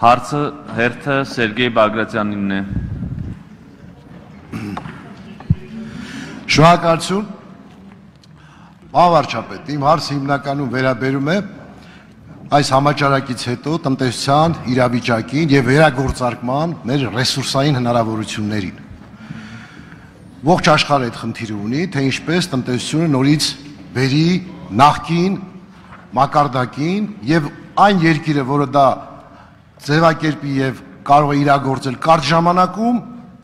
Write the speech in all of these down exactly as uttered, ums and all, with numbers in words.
Հարցը հերթը Սերգեյ Բագրատյանինն է։ Շնորհակալություն։ Վարչապետ, իմ հարցը հիմնականում վերաբերում է այս համաճարակից հետո տնտեսության իրավիճակին եւ վերագործարկման մեր ռեսուրսային հնարավորություններին։ Ողջ աշխարհը այդ խնդիրը ունի, թե ինչպես տնտեսությունը նորից բերի նախկին մակարդակին եւ այն երկիրը, որը դա ձևակերպի եւ կարող է իրագործել կարճ ժամանակում,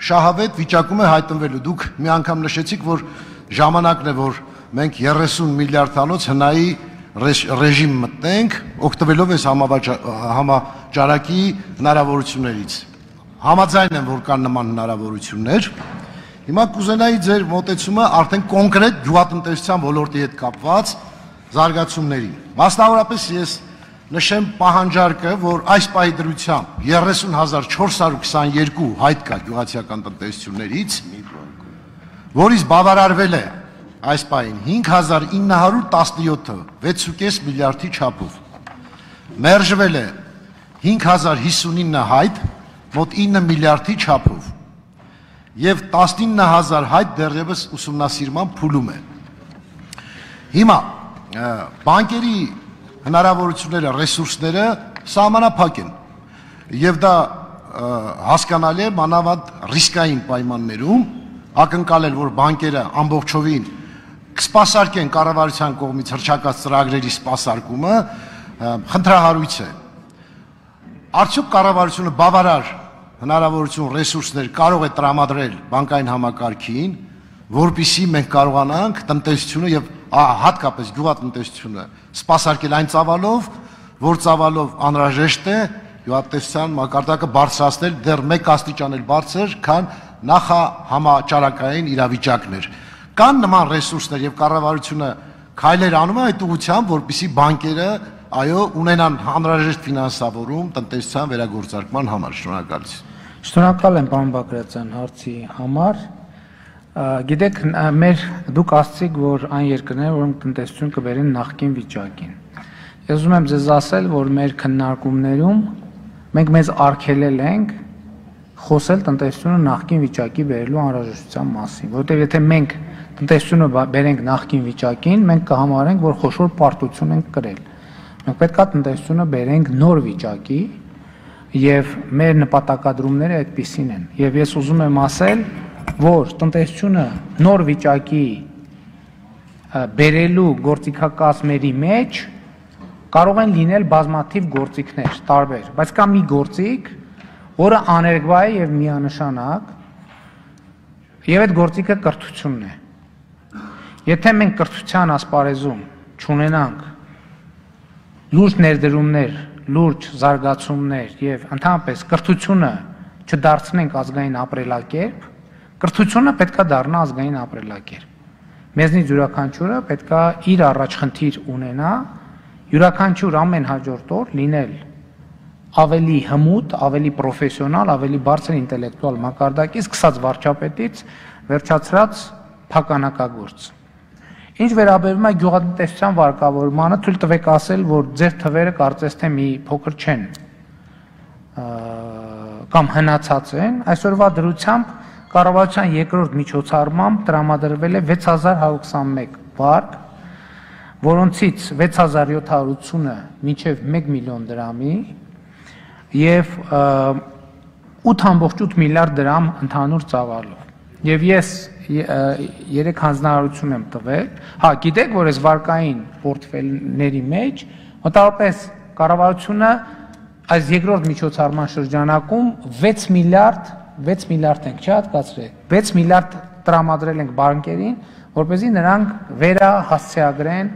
շահավետ վիճակում է հայտնվելու։ Դուք մի անգամ նշեցիք, որ ժամանակն է, որ մենք երեսուն միլիարդանոց հնայի ռեժիմ մտնենք, օգտվելով այս համաճարակի հնարավորություններից։ Համաձայն եմ, որ կան նման հնարավորություններ։ Հիմա կուզենայի ձեր մոտեցումը արդեն կոնկրետ գյուղատնտեսության ոլորտի հետ կապված զարգացումների։ Մասնավորապես ես նշեմ պահանջարկը, որ այս պահի դրությամբ երեսուն հազար չորս հարյուր քսաներկու հայտ կա գյուղացիական տնտեսություններից, որից բավարարվել է այս պահին հինգ հազար ինը հարյուր տասնյոթը վեց ու կես միլիարդի չափով, մերժվել է հինգ հազար հիսունինը հայտ մոտ ինը միլիարդի չափով և տասնինը հազար հայտ դեռևս ուսումնասիրման փուլում է։ Հիմա բանկերի հնարավորությունները, ռեսուրսները սահմանափակ են եւ դա հասկանալի է մանավանդ ռիսկային պայմաններում, ակնկալել, որ բանկերը ամբողջովին կսպասարկեն կառավարության կողմից հռչակած ծրագրերի սպասարկումը, խնդրահարույց է։ Արդյոք կառավարությունը բավարար հնարավորություն ռեսուրսներ կարող է տրամադրել բանկային համակարգին, որպեսզի մենք կարողանանք տնտեսությունը եւ հատկապես գյուղատնտեսությունը սպասարկել այն ծավալով, որ ծավալով անհրաժեշտ է գյուղատնտեսության մակարդակը բարձրացնել դեռ մեկ աստիճան էլ բարձր, քան նախահամաճարակային իրավիճակներ։ Կան նման ռեսուրսներ եւ կառավարությունը քայլեր անում է այդ ուղղությամբ, որպեսզի բանկերը այո ունենան անհրաժեշտ ֆինանսավորում տնտեսության վերագործարկման համար։ Շնորհակալություն։ Շնորհակալ եմ պարոն Բագրատյան հարցի համար։ Գիտեք, մեր դուք ասացիք, որ այն երկրները, որոնք տնտեսություն կբերեն նախկին վիճակին։ Ես ուզում եմ ձեզ ասել, որ մեր քննարկումներում մենք մեզ արգելել ենք խոսել տնտեսությունը նախկին վիճակի բերելու անհրաժեշտության մասին, որովհետև եթե մենք տնտեսությունը բերենք նախկին վիճակին, մենք կհամարենք, որ խոշոր պարտություն ենք կրել։ Մենք պետք է տնտեսությունը բերենք նոր վիճակի եւ մեր նպատակադրումները այդպիսին են։ Եվ ես ուզում եմ ասել, որ տնտեսությունը նոր վիճակի բերելու գործիքակազմերի մեջ կարող են լինել բազմաթիվ գործիքներ, տարբեր, բայց կա մի գործիք, որը աներկբա է եւ միանշանակ, եւ այդ գործիքը կրթությունն է։ Եթե մենք կրթության ասպարեզում չունենանք լուրջ ներդրումներ, լուրջ զարգացումներ եւ ընդհանրապես կրթությունը չդարձնենք ազգային ապրելակերպ, կրթությունը պետք է դառնա ազգային ապրելակերպ։ Մեզնից յուրաքանչյուրը պետք է իր առաջ խնդիր ունենա, յուրաքանչյուր ամեն հաջորդ օր լինել ավելի հմուտ, ավելի պրոֆեսիոնալ, ավելի բարձր ինտելեկտուալ մակարդակի, սկսած վարչապետից վերջացրած փականակագործ։ Ինչ վերաբերում է գյուղատնտեսության վարկավորմանը, թույլ տվեք ասել, որ ձեր թվերը կարծես թե մի փոքր չեն կամ հնացած են, այսօրվա դրությամբ կառավարության երկրորդ միջոցառմամբ տրամադրվել է վեց հազար հարյուր քսանմեկ վարկ, որոնցից վեց հազար յոթ հարյուր ութսունը մինչև մեկ միլիոն դրամի եւ ութ ամբողջ ութ միլիարդ դրամ ընդհանուր ծավալով։ Եվ ես երեք հանձնարարություն եմ տվել։ Հա, գիտեք, որ այս վարկային պորտֆելների մեջ մոտավորապես կառավարությունը այս երկրորդ միջոցառման շրջանակում վեց միլիարդ վեց միլիարդ ենք չհատկացրել, վեց միլիարդ տրամադրել ենք բանկերին, որպեսզի նրանք վերահասցեագրեն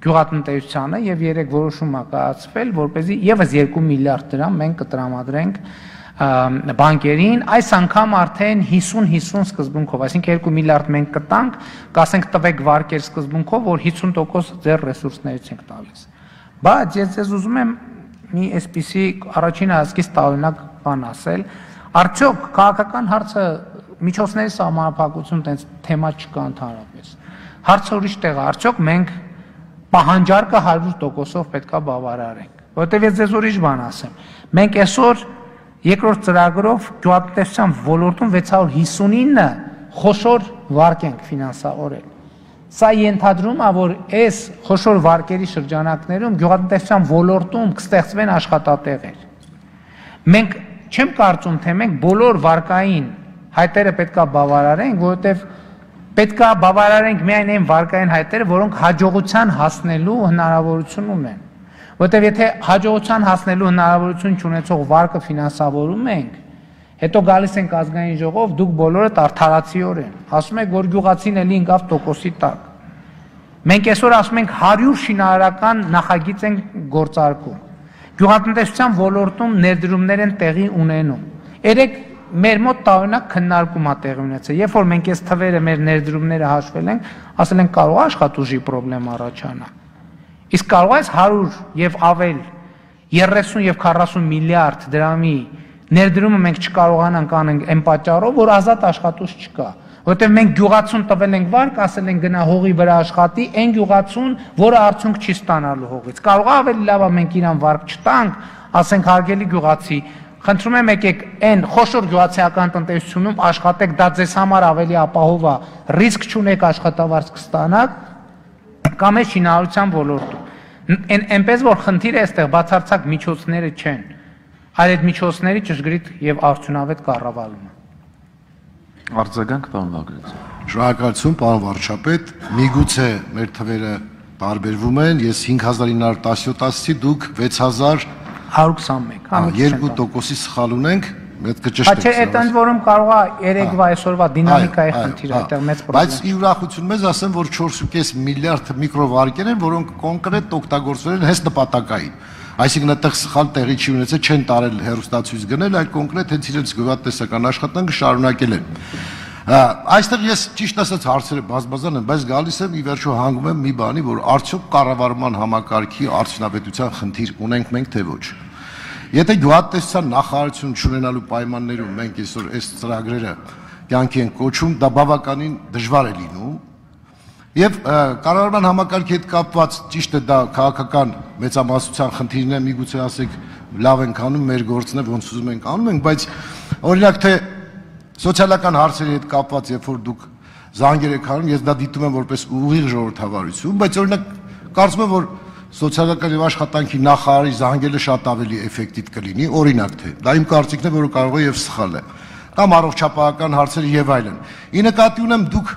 գյուղատնտեսությանը եւ երեք որոշում ա կայացվել, որպեսզի եւս երկու միլիարդ դրամ մենք կտրամադրենք բանկերին, այս անգամ արդեն հիսուն հիսուն սկզբունքով, այսինքն երկու միլիարդ մենք կտանք, կասենք տվեք վարկեր սկզբունքով, որ հիսուն տոկոս ձեր ռեսուրսներից ենք տալիս։ Բայց ես ձեզ ուզում եմ մի այսպիսի առաջին հայացքից տարօրինակ բան ասել, արդյոք քաղաքական հարցը միջոցների սահմանափակություն տենց թեմա չկա ընդհանրապես։ Հարցը ուրիշ տեղ է, արդյոք մենք պահանջարկը հարյուր տոկոսով պետք է բավարարենք։ որտեվ ես ձեզ ուրիշ բան ասեմ։ Մենք այսօր երկրորդ ծրագրով գյուղատնտեսության ոլորտում վեց հարյուր հիսունինը խոշոր վարկ ենք ֆինանսավորել։ Սա ենթադրում է, որ այս խոշոր վարկերի շրջանակներում գյուղատնտեսության ոլորտում կստեղծվեն աշխատատեղեր։ Մենք չեմ կարծում, թե մենք բոլոր վարկային հայտերը պետք է բավարարենք, որովհետև պետք է բավարարենք միայն այն վարկային հայտերը, որոնք հաջողության հասնելու հնարավորություն ունեն։ Որովհետև եթե հաջողության հասնելու հնարավորություն չունեցող վարկը ֆինանսավորում ենք, հետո գալիս ենք ազգային ժողով, դուք բոլորդ արդարացիորեն ասում եք, որ գյուղացին էլի ընկավ տոկոսի տակ։ Մենք այսօր ասում ենք հարյուր շինարարական նախագիծ ենք գործարկում։ Գյուղատնտեսության ոլորտում ներդրումներ են տեղի ունենում։ Երեք մեր մոտ տարօրինակ քննարկում է տեղի ունեցել։ Երբ որ մենք այս թվերը մեր ներդրումները հաշվել ենք, ասել ենք կարող է աշխատուժի խնդրեմ առաջանա։ Իսկ կարող է հարյուր եւ ավել երեսուն եւ քառասուն միլիարդ դրամի ներդրումը մենք չկարողանանք անենք այն պատճառով, որ ազատ աշխատուժ չկա։ Որտեղ մենք գյուղացուն տվել ենք վարկ, ասել ենք գնա հողի վրա աշխատի, այն գյուղացուն, որը արդյունք չի ստանալու հողից։ Կարող է ավելի լավ է մենք իրան վարկ չտանք, ասենք հարգելի գյուղացի, խնդրում եմ եկեք այն խոշոր գյուղացիական տնտեսությունում աշխատեք, դա ձեզ համար ավելի ապահով է, ռիսկ չունեք աշխատավարձ կստանաք, կամ է շինարարության ոլորտում։ Այնպես որ խնդիրը այստեղ բացարձակ միջոցները չեն, այլ այդ միջոցների ճշգրիտ եւ արդյունավետ կառավարումը։ Արձագանք, պարոն Բագրատյան։ Շնորհակալություն, պարոն վարչապետ։ Միգուցե մեր թվերը տարբերվում են, ես հինգ հազար ինը հարյուր տասնյոթ-ի դուք վեց հազար հարյուր քսանմեկ, երկու տոկոսի սխալ ունենք, մեծ կճշտենք։ Չէ, այդ ընդ որում կարող է երեկվա այսօրվա դինամիկայի խնդիր է, այդտեղ մեծ պրոբլեմ։ Բայց ի ուրախություն մեզ ասեմ, որ չորս ու կես միլիարդ միկրովարկեր են, որոնք կոնկրետ օգտագործվել են հենց նպատակային։ Այսինքն այդտեղ սխալ տեղի չի ունեցել, չեն տարել հերոստացույց գնել, այլ կոնկրետ հենց իրենց գյուղատնտեսական աշխատանքը շարունակել են։ Այստեղ ես ճիշտ ասած հարցերը բազմազան են, բայց գալիս եմ ի վերջո հանգում եմ մի բանի, որ արդյոք կառավարման համակարգի արդյունավետության խնդիր ունենք մենք թե ոչ։ Եթե գյուղատնտեսության նախարարություն չունենալու պայմաններում մենք այսօր այս ծրագրերը կյանքի են կոչում, դա բավականին դժվար է լինում։ Եվ կառավարման համակարգի հետ կապված ճիշտ է դա քաղաքական մեծամասնության խնդիրն է, միգուցե ասեք լավ ենք անում, մեր գործն է, ոնց ուզում ենք անում ենք, բայց օրինակ թե սոցիալական հարցերի հետ կապված, երբ որ դուք զանգեր եք անում, ես դա դիտում եմ որպես ուղիղ ժողովրդավարություն, բայց օրինակ կարծում եմ, որ սոցիալական եւ աշխատանքի նախարարի զանգելը շատ ավելի էֆեկտիվ կլինի, օրինակ թե դա իմ կարծիքն է, որը կարող է եւ սխալ է, կամ առողջապահական հարցեր եւ այլն։ Ի նկատի ունեմ դուք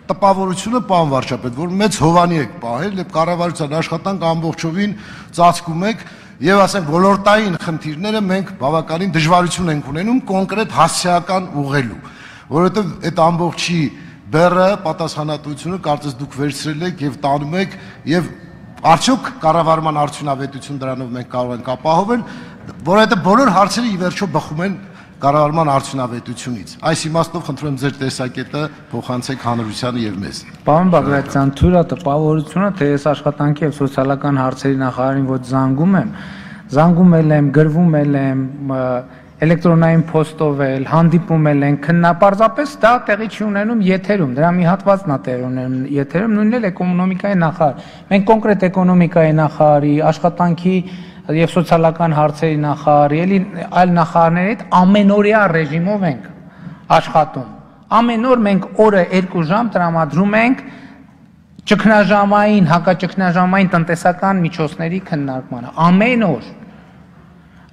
տպավորությունը, պարոն վարչապետ, որ մեծ հովանի եք պահել եւ կառավարության աշխատանք ամբողջովին ծածկում եք եւ ասենք ոլորտային խնդիրները մենք բավականին դժվարություն ենք ունենում կոնկրետ հասարակական ուղղելու, որովհետեւ այդ ամբողջի բեռը պատասխանատվությունը կարծես դուք վերցրել եք եւ տանում եք եւ արդյոք կառավարման արդյունավետություն դրանով մենք կարող ենք ապահովել, որովհետեւ բոլոր հարցերը ի վերջո բխում են կառավարման արդյունավետությունից։ Այս իմաստով խնդրում եմ ձեր տեսակետը փոխանցեք հանրությանը եւ մեզ։ Պարոն Բագրատյան, թույլ է տպավորությունը, թե ես աշխատանքի եւ սոցիալական հարցերի նախարարին ոչ զանգում եմ, զանգում եմ, գրվում եմ, էլեկտրոնային փոստով էլ, հանդիպում ենք, քննապարզապես դա տեղի չի ունենում եթերում, դրա մի հատվածն է տեղի ունենում եթերում, նույնն էլ էկոնոմիկայի նախարար։ Մենք կոնկրետ էկոնոմիկայի նախարարի, աշխատանքի եւ սոցիալական հարցերի նախարարի, էլի այլ նախարարների հետ ամենօրյա ռեժիմով ենք աշխատում։ Ամեն օր մենք օրը երկու ժամ տրամադրում ենք ճգնաժամային, հակաճգնաժամային տնտեսական միջոցների քննարկմանը։ Ամեն օր։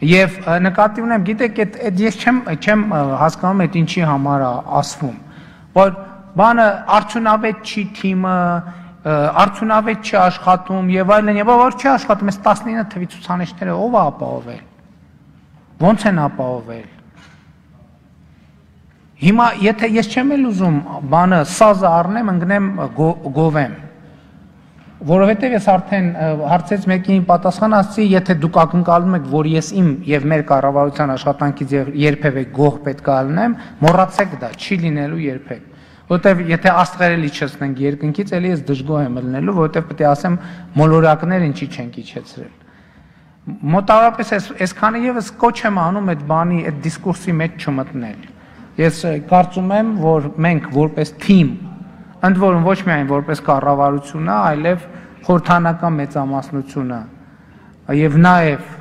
Եվ նկատի ունեմ, գիտեք, այդ ես չեմ չեմ հասկանում այդ ինչի համար է ասվում, որ բանը արդյունավետ չի թիմը, արդյունավետ չի աշխատում եւ այլն, եւ որ չի աշխատում, այս տասնինը թվի ցուցանիշները ով է ապահովել։ Ոնց են ապահովել։ Հիմա եթե ես չեմ էլ ուզում բանը սազը առնեմ, ընկնեմ գովեմ, որովհետեւ ես արդեն հարցեց մեկին պատասխան ասացի, եթե դուք ակնկալում եք, որ ես իմ եւ մեր կառավարության աշխատանքից երբևէ գող պետք է լինեմ, մոռացեք դա, չի լինելու երբեք։ Որտեվ եթե աստղերը իջեցնենք երկնքից, ելի ես դժգոհ եմ լինելու, որտեվ պետք է ասեմ մոլորակներ ինչի չենք իջեցրել։ Մոտավորապես այսքանը եւս կոչ եմ անում այդ բանի, այդ դիսկուրսի մեջ չմտնել։ Ես կարծում եմ, որ մենք որպես թիմ, ընդ որում ոչ միայն որպես կառավարությունը, այլև խորհրդանական մեծամասնությունը եւ նաեւ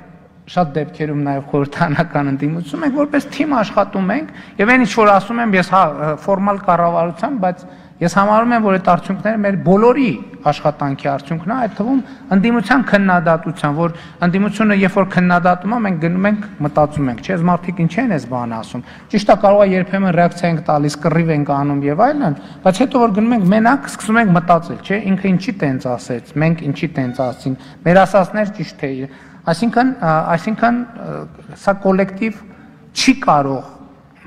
շատ դեպքերում նաեւ խորհրդանական ընդդիմություն ենք որպես թիմ աշխատում ենք եւ այն ինչ որ ասում եմ ես հա ֆորմալ կառավարության, բայց ես համարում եմ որ այդ արդյունքները մեր բոլորի աշխատանքի արդյունքն է, այդ թվում ընդդիմության քննադատության, որ ընդդիմությունը երբ որ քննադատում է, մենք գնում ենք մտածում ենք, չէ՞, մարդիկ ինչ են այս բանը ասում։ Ճիշտ է, կարող է երբեմն ռեակցիա ենք տալիս, կռիվ ենք անում եւ այլն, բայց հետո որ գնում ենք մենակ սկսում ենք մտածել, չէ՞, ինքը ինչի տենց ասեց, մենք ինչի տենց ասին, մեր ասածներ ճիշտ է։ Այսինքն, այսինքն սա կոլեկտիվ չի կարող,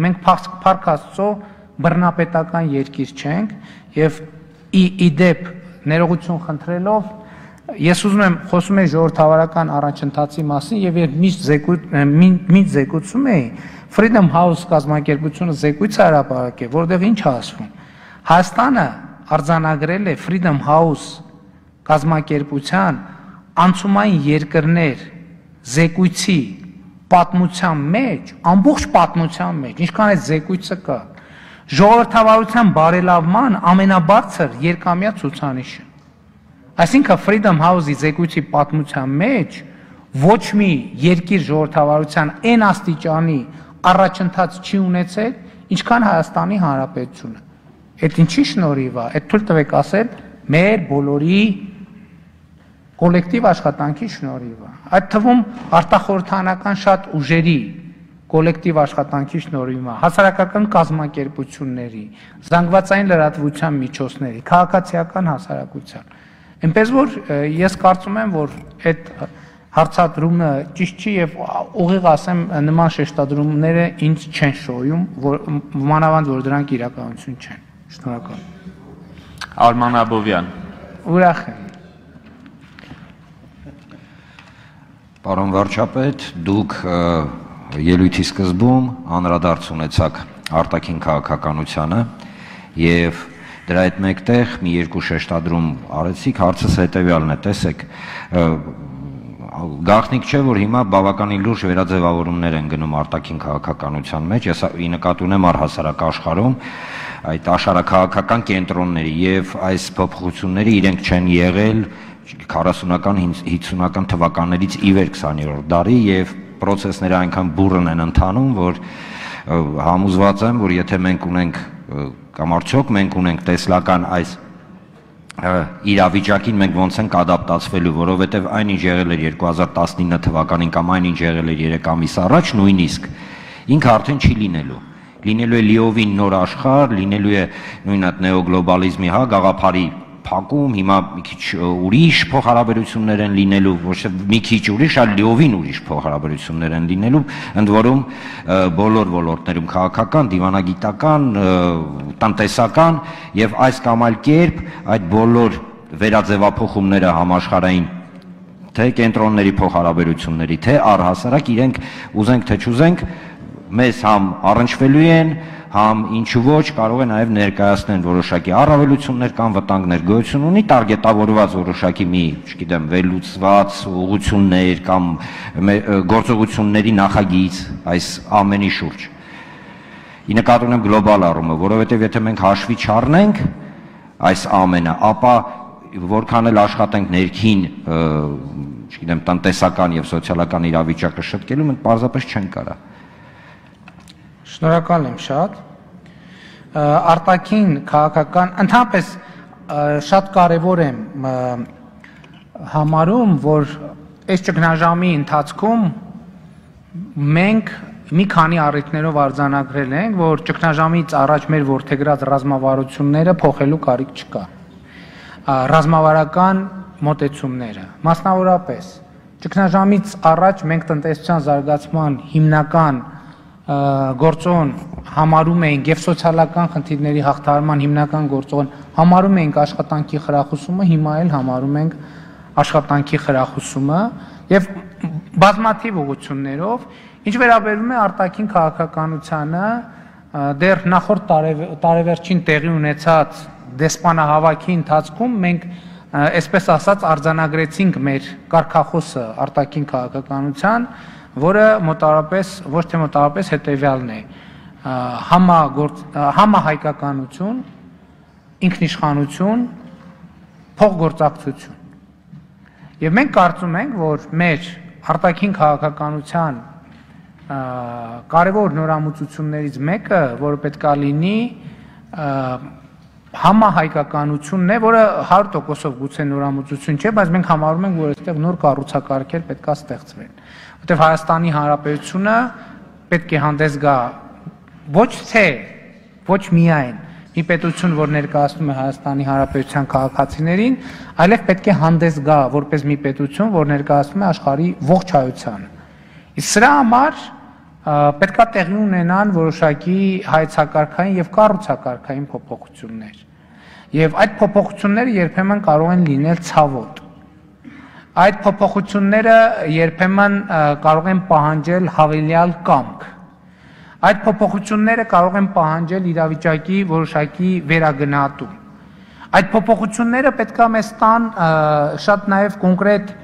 մենք Փառք Աստծո բռնապետական երկիր չենք եւ ի դեպ ներողություն խնդրելով ես ուզում եմ խոսում եմ ժողովրդավարական առաջընթացի մասին եւ երբ միշտ զեկույց միշտ զեկուցում էի Freedom House կազմակերպությունը զեկույց հրապարակել, որտեղ ինչ ասվում։ Հայաստանը արձանագրել է Freedom House կազմակերպության անցումային երկրներ զեկույցի պատմության մեջ, ամբողջ պատմության մեջ, ինչքան է զեկույցը կա, ժողովրդավարության բարելավման ամենաբարձր երկամյա ցուցանիշը։ Այսինքն Freedom House-ի զեկույցի պատմության մեջ ոչ մի երկիր ժողովրդավարության այն աստիճանի առաջընթաց չի ունեցել, ինչքան Հայաստանի Հանրապետությունը։ Այդ ինչի շնորհիվ է, այդ թույլ տվեք ասել, մեր բոլորի կոլեկտիվ աշխատանքի շնորհիվ է։ Այդ թվում արտախորհրդանական շատ ուժերի կոլեկտիվ աշխատանքի շնորհիվ է, հասարակական կազմակերպությունների, զանգվածային լրատվության միջոցների, քաղաքացիական հասարակության։ Այնպես որ ես կարծում եմ, որ այդ հարցադրումը ճիշտ չի եւ ուղիղ ասեմ նման շեշտադրումները ինձ չեն շոյում, որ մանավանդ որ դրանք իրականություն չեն։ Շնորհակալ։ Արման Աբովյան։ Ուրախ եմ։ Պարոն վարչապետ, դուք ելույթի սկզբում անդրադարձ ունեցաք արտաքին քաղաքականությանը եւ դրա հետ մեկտեղ մի երկու շեշտադրում արեցիք, հարցս հետեւյալն է, տեսեք, գաղտնիք չէ, որ հիմա բավականին լուրջ վերաձևավորումներ են գնում արտաքին քաղաքականության մեջ, ես ի նկատի ունեմ առհասարակ աշխարհում այդ աշխարհակաղակական կենտրոնների եւ այս փոփոխությունները իրենք չեն եղել քառասունական հինգսունական թվականներից ի վեր քսաներորդ դարի եւ process-ները այնքան բուրըն են ընթանում, որ համոզված եմ, որ եթե մենք ունենք կամ արդյոք մենք ունենք տեսլական այս իրավիճակին մենք ոնց ենք ադապտացվելու, որովհետև այնինչ եղել էր երկու հազար տասնինը թվականին կամ այնինչ եղել էր երեք ամիս առաջ, նույնիսկ ինքը արդեն չի լինելու։ Լինելու է լիովին նոր աշխարհ, լինելու է նույն այդ նեոգլոբալիզմի, հա, գաղափարի փակում, հիմա մի քիչ ուրիշ փոխհարաբերություններ են լինելու, ոչ թե մի քիչ ուրիշ, այլ լիովին ուրիշ փոխհարաբերություններ են լինելու, ընդ որում բոլոր ոլորտներում քաղաքական, դիվանագիտական, տնտեսական եւ այս կամ այլ կերպ այդ բոլոր վերաձևափոխումները համաշխարհային թե կենտրոնների փոխհարաբերությունների, թե առհասարակ իրենք ուզենք թե չուզենք մեզ համ առնչվելու են, համ ինչու ոչ կարող է նաև ներկայացնել որոշակի առավելություններ կամ վտանգներ, գոյություն ունի տարգետավորված որոշակի մի, չգիտեմ, վերլուծված ուղղություններ կամ գործողությունների նախագիծ այս ամենի շուրջ։ Ի նկատի ունեմ գլոբալ առումը, որովհետև եթե մենք հաշվի չառնենք այս ամենը, ապա որքան էլ աշխատենք ներքին, չգիտեմ, տնտեսական եւ սոցիալական իրավիճակը շտկելու, մենք պարզապես չենք կարա։ Շնորհակալ եմ շատ։ Արտաքին քաղաքական ընդհանրապես շատ կարևոր եմ համարում, որ այս ճգնաժամի ընթացքում մենք մի քանի առիթներով արձանագրել ենք, որ ճգնաժամից առաջ մեր որդեգրած ռազմավարությունները փոխելու կարիք չկա։ Ռազմավարական մոտեցումները, մասնավորապես ճգնաժամից առաջ մենք տնտեսության զարգացման հիմնական գործոն համարում էինք եւ սոցիալական խնդիրների հաղթահարման հիմնական գործոն համարում էինք աշխատանքի խրախուսումը, հիմա էլ համարում ենք աշխատանքի խրախուսումը եւ բազմաթիվ ուղղություններով, ինչ վերաբերում է արտաքին քաղաքականությանը, դեռ նախորդ տարեվերջին տեղի ունեցած դեսպանահավաքի ընթացքում մենք այսպես ասած արձանագրեցինք մեր կարգախոսը արտաքին քաղաքականության, որը մոտավորապես ոչ թե մոտավորապես հետեւյալն է. համահայկականություն, ինքնիշխանություն, փոխգործակցություն։ Եվ մենք կարծում ենք, որ մեր արտաքին քաղաքականության կարևոր նորամուծություններից մեկը, որը պետք է լինի, համահայկականությունն է, որը հարյուր տոկոսով գուցե նորամուծություն չէ, բայց մենք համարում ենք, որ այստեղ նոր կառուցակարգեր պետք է ստեղծվեն, որտեղ Հայաստանի Հանրապետությունը պետք է հանդես գա ոչ թե ոչ միայն մի պետություն, որ ներկայացնում է Հայաստանի Հանրապետության քաղաքացիներին, այլև պետք է հանդես գա որպես մի պետություն, որ ներկայացնում է աշխարհի ողջ հայությանը։ Իսկ սրա համար պետք է տեղի ունենան որոշակի հայեցակարգային եւ կառուցակարգային փոփոխություններ։ Եվ այդ փոփոխությունները երբեմն կարող են լինել ցավոտ։ Այդ փոփոխությունները երբեմն կարող են պահանջել հավելյալ կամք։ Այդ փոփոխությունները կարող են պահանջել իրավիճակի որոշակի վերագնահատում։ Այդ փոփոխությունները պետք է մեզ տան շատ նաեւ կոնկրետ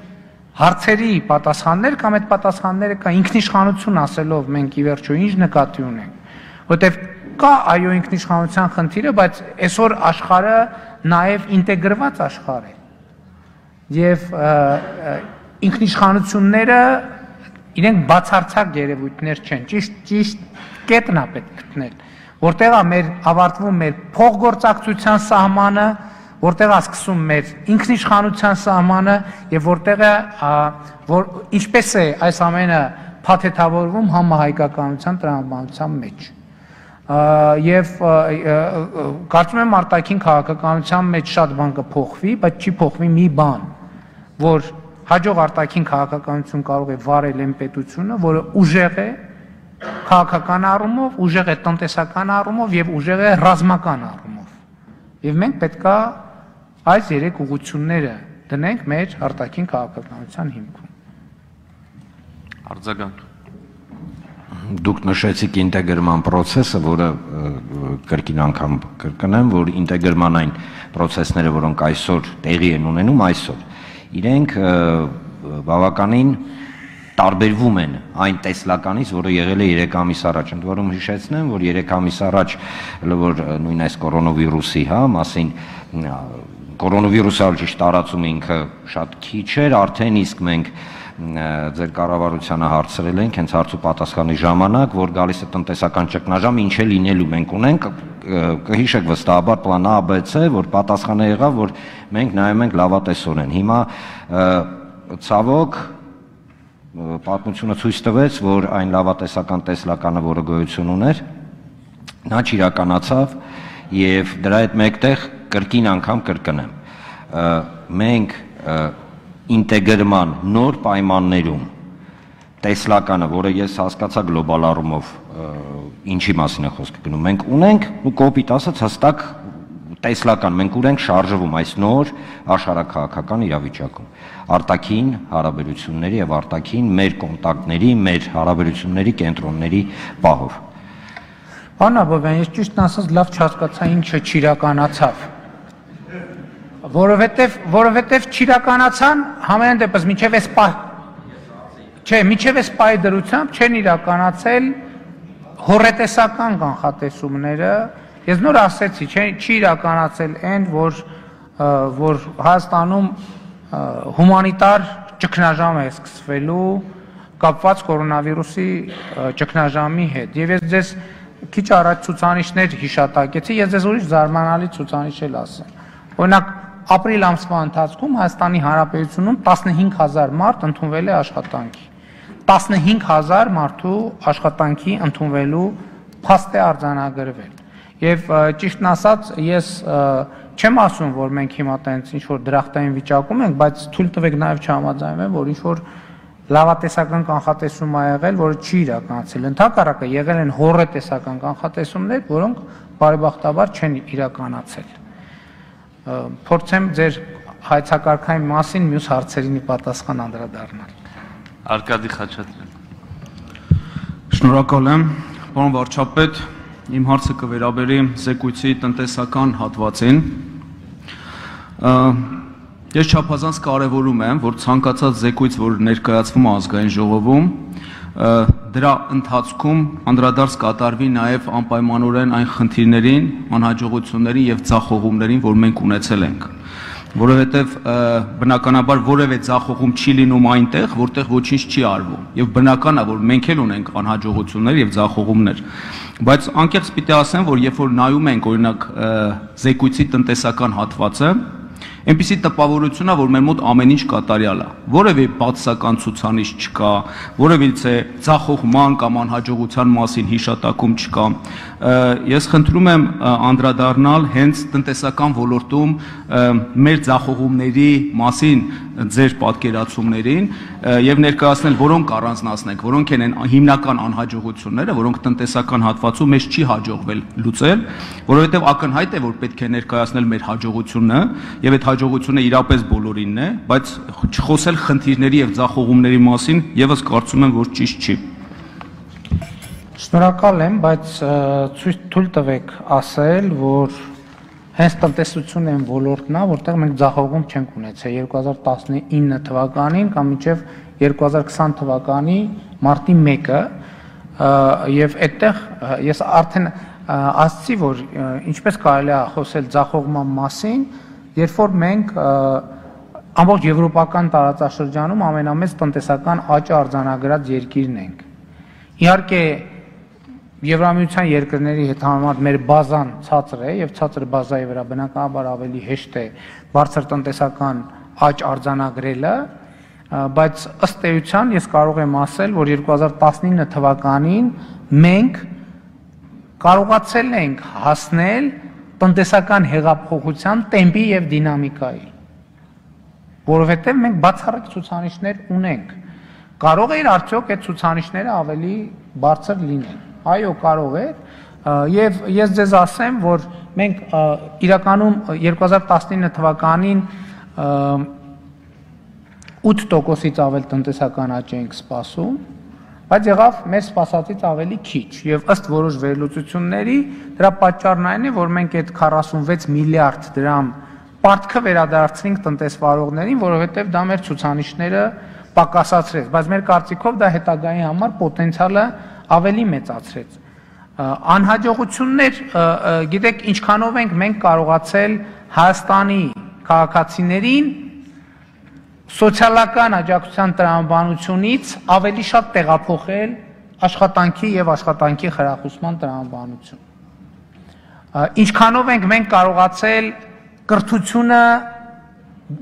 հարցերի պատասխաններ կամ այդ պատասխանները կա ինքնիշխանություն ասելով մենք ի վերջո ինչ նկատի ունենք, որտեվ կա այո ինքնիշխանության խնդիրը, բայց այսօր աշխարհը նաև ինտեգրված աշխարհ է եւ ինքնիշխանությունները իրենք բացարձակ երևույթներ չեն, ճիշտ ճիշտ կետն է պետք գտնել, որտեղ է մեր ավարտվում մեր փոխգործակցության սահմանը, որտեղ է սկսում մեր ինքնիշխանության սահմանը եւ որտեղ է որ ինչպես է այս ամենը փաթեթավորվում համահայկականության տրամաբանության մեջ եւ կարծում եմ արտաքին քաղաքականության մեջ շատ բան կփոխվի, բայց չի փոխվի մի բան, որ հաջող արտաքին քաղաքականություն կարող է վարել այն պետությունը, որը ուժեղ է քաղաքական առումով, ուժեղ է տնտեսական առումով եւ ուժեղ է ռազմական առումով։ Եվ մենք պետքա այս երեք ուղղությունները դնենք մեր արտաքին քաղաքականության հիմքում։ Արձագանք։ Դուք նշեցիք ինտեգրման process-ը, որը կրկին անգամ կրկնեմ, որ ինտեգրման այն process-ները, որոնք այսօր տեղի են ունենում այսօր, իրենք բավականին տարբերվում են այն տեսլականից, որը եղել է երեք ամիս առաջ։ Ընդ որում հիշեցնեմ, որ երեք ամիս առաջ, որ նույն այս կորոնավիրուսի, հա, մասին կորոնավիրուսը ճիշտ տարածում ինքը շատ քիչ էր, արդեն իսկ մենք ձեր կառավարությանը հարցրել ենք հենց հարց ու պատասխանի ժամանակ, որ գալիս է տնտեսական ճգնաժամ, ինչ է լինելու մենք ունենք, կհիշեք վստահաբար պլան A, B, C, որ պատասխանը եղավ, որ մենք նայում ենք լավատեսորեն։ Հիմա ցավոք պատմությունը ցույց տվեց, որ այն լավատեսական տեսլականը, որը գոյություն ուներ, նա չիրականացավ եւ դրա հետ մեկտեղ կրկին անգամ կրկնեմ։ Մենք ինտեգրման նոր պայմաններում տեսլականը, որը ես հասկացա գլոբալ առումով ինչի մասին է խոսքը գնում, մենք ունենք ու կոպիտ ասած հստակ տեսլական, մենք ուր ենք շարժվում այս նոր աշխարհաքաղաքական իրավիճակում, արտաքին հարաբերությունների եւ արտաքին մեր կոնտակտների, մեր հարաբերությունների կենտրոնների պահով։ Պարոն Աբովյան, ես ճիշտն ասած լավ չհասկացա ինչը չիրականացավ, որովհետեւ որովհետեւ չիրականացան համենայն դեպս միջև էս պահ չէ, միջև էս պահի դրությամբ չեն իրականացել հորետեսական կանխատեսումները։ Ես նոր ասեցի, չի իրականացել այն, որ որ Հայաստանում հումանիտար ճգնաժամ է սկսվելու կապված կորոնավիրուսի ճգնաժամի հետ։ Եվ ես ձեզ քիչ առաջ ցուցանիշներ հիշատակեցի, ես ձեզ ուրիշ զարմանալի ցուցանիշ էլ ասեմ։ Օրինակ, ապրիլ ամսվա ընթացքում Հայաստանի Հանրապետությունում տասնհինգ հազար մարդ ընդունվել է աշխատանքի։ տասնհինգ հազար մարդու աշխատանքի ընդունվելու փաստ է արձանագրվել։ Եվ ճիշտն ասած, ես չեմ ասում, որ մենք հիմա տենց ինչ որ դրախտային վիճակում ենք, բայց թույլ տվեք նաև չհամաձայնվեմ, որ ինչ որ լավատեսական կանխատեսում ա եղել, որը չի իրականացել։ Ընդհակառակը եղել են հորետեսական կանխատեսումներ, որոնք բարեբախտաբար չեն իրականացել։ Փորձեմ ձեր հայեցակարգային մասին մյուս հարցերին պատասխան անդրադառնալ։ Արկադի Խաչատրյան։ Շնորհակալ եմ, պարոն վարչապետ, իմ հարցը կվերաբերի զեկույցի տնտեսական հատվածին։ Ես չափազանց կարևորում եմ, որ ցանկացած զեկույց, որ ներկայացվում է ազգային ժողովում, դրա ընթացքում անդրադարձ կատարվի նաև անպայմանորեն այն խնդիրներին, անհաջողություններին եւ ձախողումներին, որ մենք ունեցել ենք։ որովհետև բնականաբար որևէ ձախողում չի լինում այնտեղ, որտեղ ոչինչ չի արվում։ Եվ բնական է, որ մենք էլ ունենք անհաջողություններ եւ ձախողումներ։ Բայց անկեղծ պիտի ասեմ, որ երբ որ նայում ենք օրինակ զեկույցի տնտեսական հատվածը, այնպիսի տպավորություն է, որ մեր մոտ ամեն ինչ կատարյալ է։ Որևէ բացասական ցուցանիշ չկա, որևիցե ձախողման կամ անհաջողության մասին հիշատակում չկա։ Ես խնդրում եմ անդրադառնալ հենց տնտեսական ոլորտում մեր ձախողումների մասին ձեր պատկերացումներին եւ ներկայացնել, որոնք առանձնացնենք, որոնք են այն հիմնական անհաջողությունները, որոնք տնտեսական հատվածում մեզ չի հաջողվել լուծել, որովհետեւ ակնհայտ է, որ պետք է ներկայացնել մեր հաջողությունը եւ այդ հաջողությունը իրապես բոլորինն է, բայց չխոսել խնդիրների եւ ձախողումների մասին եւս կարծում եմ, որ ճիշտ չի։ Շնորհակալ եմ, բայց ցույց թույլ տվեք ասել, որ հենց տնտեսությունն են ոլորտն է, որտեղ մենք ձախողում չենք ունեցել երկու հազար տասնինը թվականին կամ մինչև երկու հազար քսան թվականի մարտի մեկը, եւ այդտեղ ես արդեն ասացի, որ ինչպես կարելի է խոսել ձախողման մասին, երբ որ մենք ամբողջ եվրոպական տարածաշրջանում ամենամեծ տնտեսական աճը արձանագրած երկիրն ենք։ Իհարկե Եվրամիության երկրների հետ համեմատ մեր բազան ցածր է եւ ցածր բազայի վրա բնականաբար ավելի հեշտ է բարձր տնտեսական աճ արձանագրելը, բայց ըստ էության ես կարող եմ ասել, որ երկու հազար տասնինը թվականին մենք կարողացել ենք հասնել տնտեսական հեղափոխության տեմպի եւ դինամիկայի, որովհետեւ մենք բացառիկ ցուցանիշներ ունենք։ Կարող է արդյոք այդ ցուցանիշները ավելի բարձր լինեն։ Այո, կարող է, եւ ես ձեզ ասեմ, որ մենք իրականում երկու հազար տասնինը թվականին ութ տոկոսից ավել տնտեսական աճ ենք սպասում, բայց եղավ մեր սպասածից ավելի քիչ, եւ ըստ որոշ վերլուծությունների դրա պատճառն այն է, որ մենք այդ քառասունվեց միլիարդ դրամ պարտքը վերադարձնենք տնտեսվարողներին, որովհետեւ դա մեր ցուցանիշները պակասացրեց, բայց մեր կարծիքով դա հետագայի համար պոտենցիալը ավելի մեծացրեց։ Անհաջողություններ, գիտեք, ինչքանով ենք մենք կարողացել Հայաստանի քաղաքացիներին սոցիալական աջակցության տրամաբանությունից ավելի շատ տեղափոխել աշխատանքի եւ աշխատանքի խրախուսման տրամաբանություն։ Ինչքանով ենք մենք կարողացել կրթությունը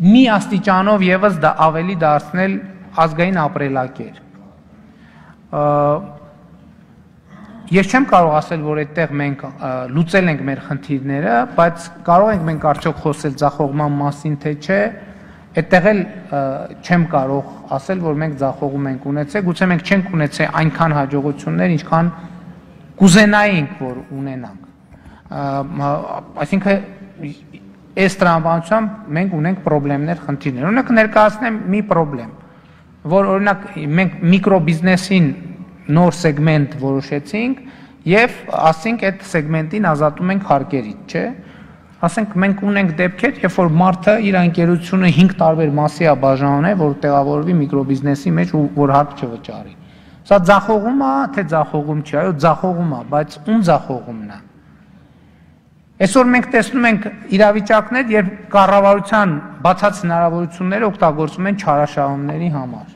մի աստիճանով եւս դա ավելի դարձնել ազգային ապրելակերպ։ Ես չեմ կարող ասել, որ այդտեղ մենք լուծել ենք մեր խնդիրները, բայց կարող ենք մենք արդյոք խոսել ձախողման մասին, թե չէ, այդտեղ էլ չեմ կարող ասել, որ մենք ձախողում ենք ունեցել, գուցե մենք չենք ունեցել այնքան հաջողություններ, ինչքան կուզենայինք, որ ունենանք։ Այսինքն այս տրամաբանությամբ մենք ունենք խնդիրներ, խնդիրներ։ Օրինակ ներկայացնեմ մի խնդրեմ, որ օրինակ մենք միկրոբիզնեսին նոր սեգմենտ որոշեցինք եւ ասենք այդ սեգմենտին ազատում ենք հարկերից, չէ՞։ Ասենք մենք ունենք դեպքեր, երբ որ մարդը իր ընկերությունը հինգ տարբեր մասի է բաժանել, որ տեղավորվի միկրոբիզնեսի մեջ ու որ հարկ չվճարի։ Սա ձախողում է, թե ձախողում չի, այո, ձախողում է, բայց ում ձախողումն է։ Այսօր մենք տեսնում ենք իրավիճակներ, երբ կառավարության բացած հնարավորությունները օգտագործում են չարաշահումների համար։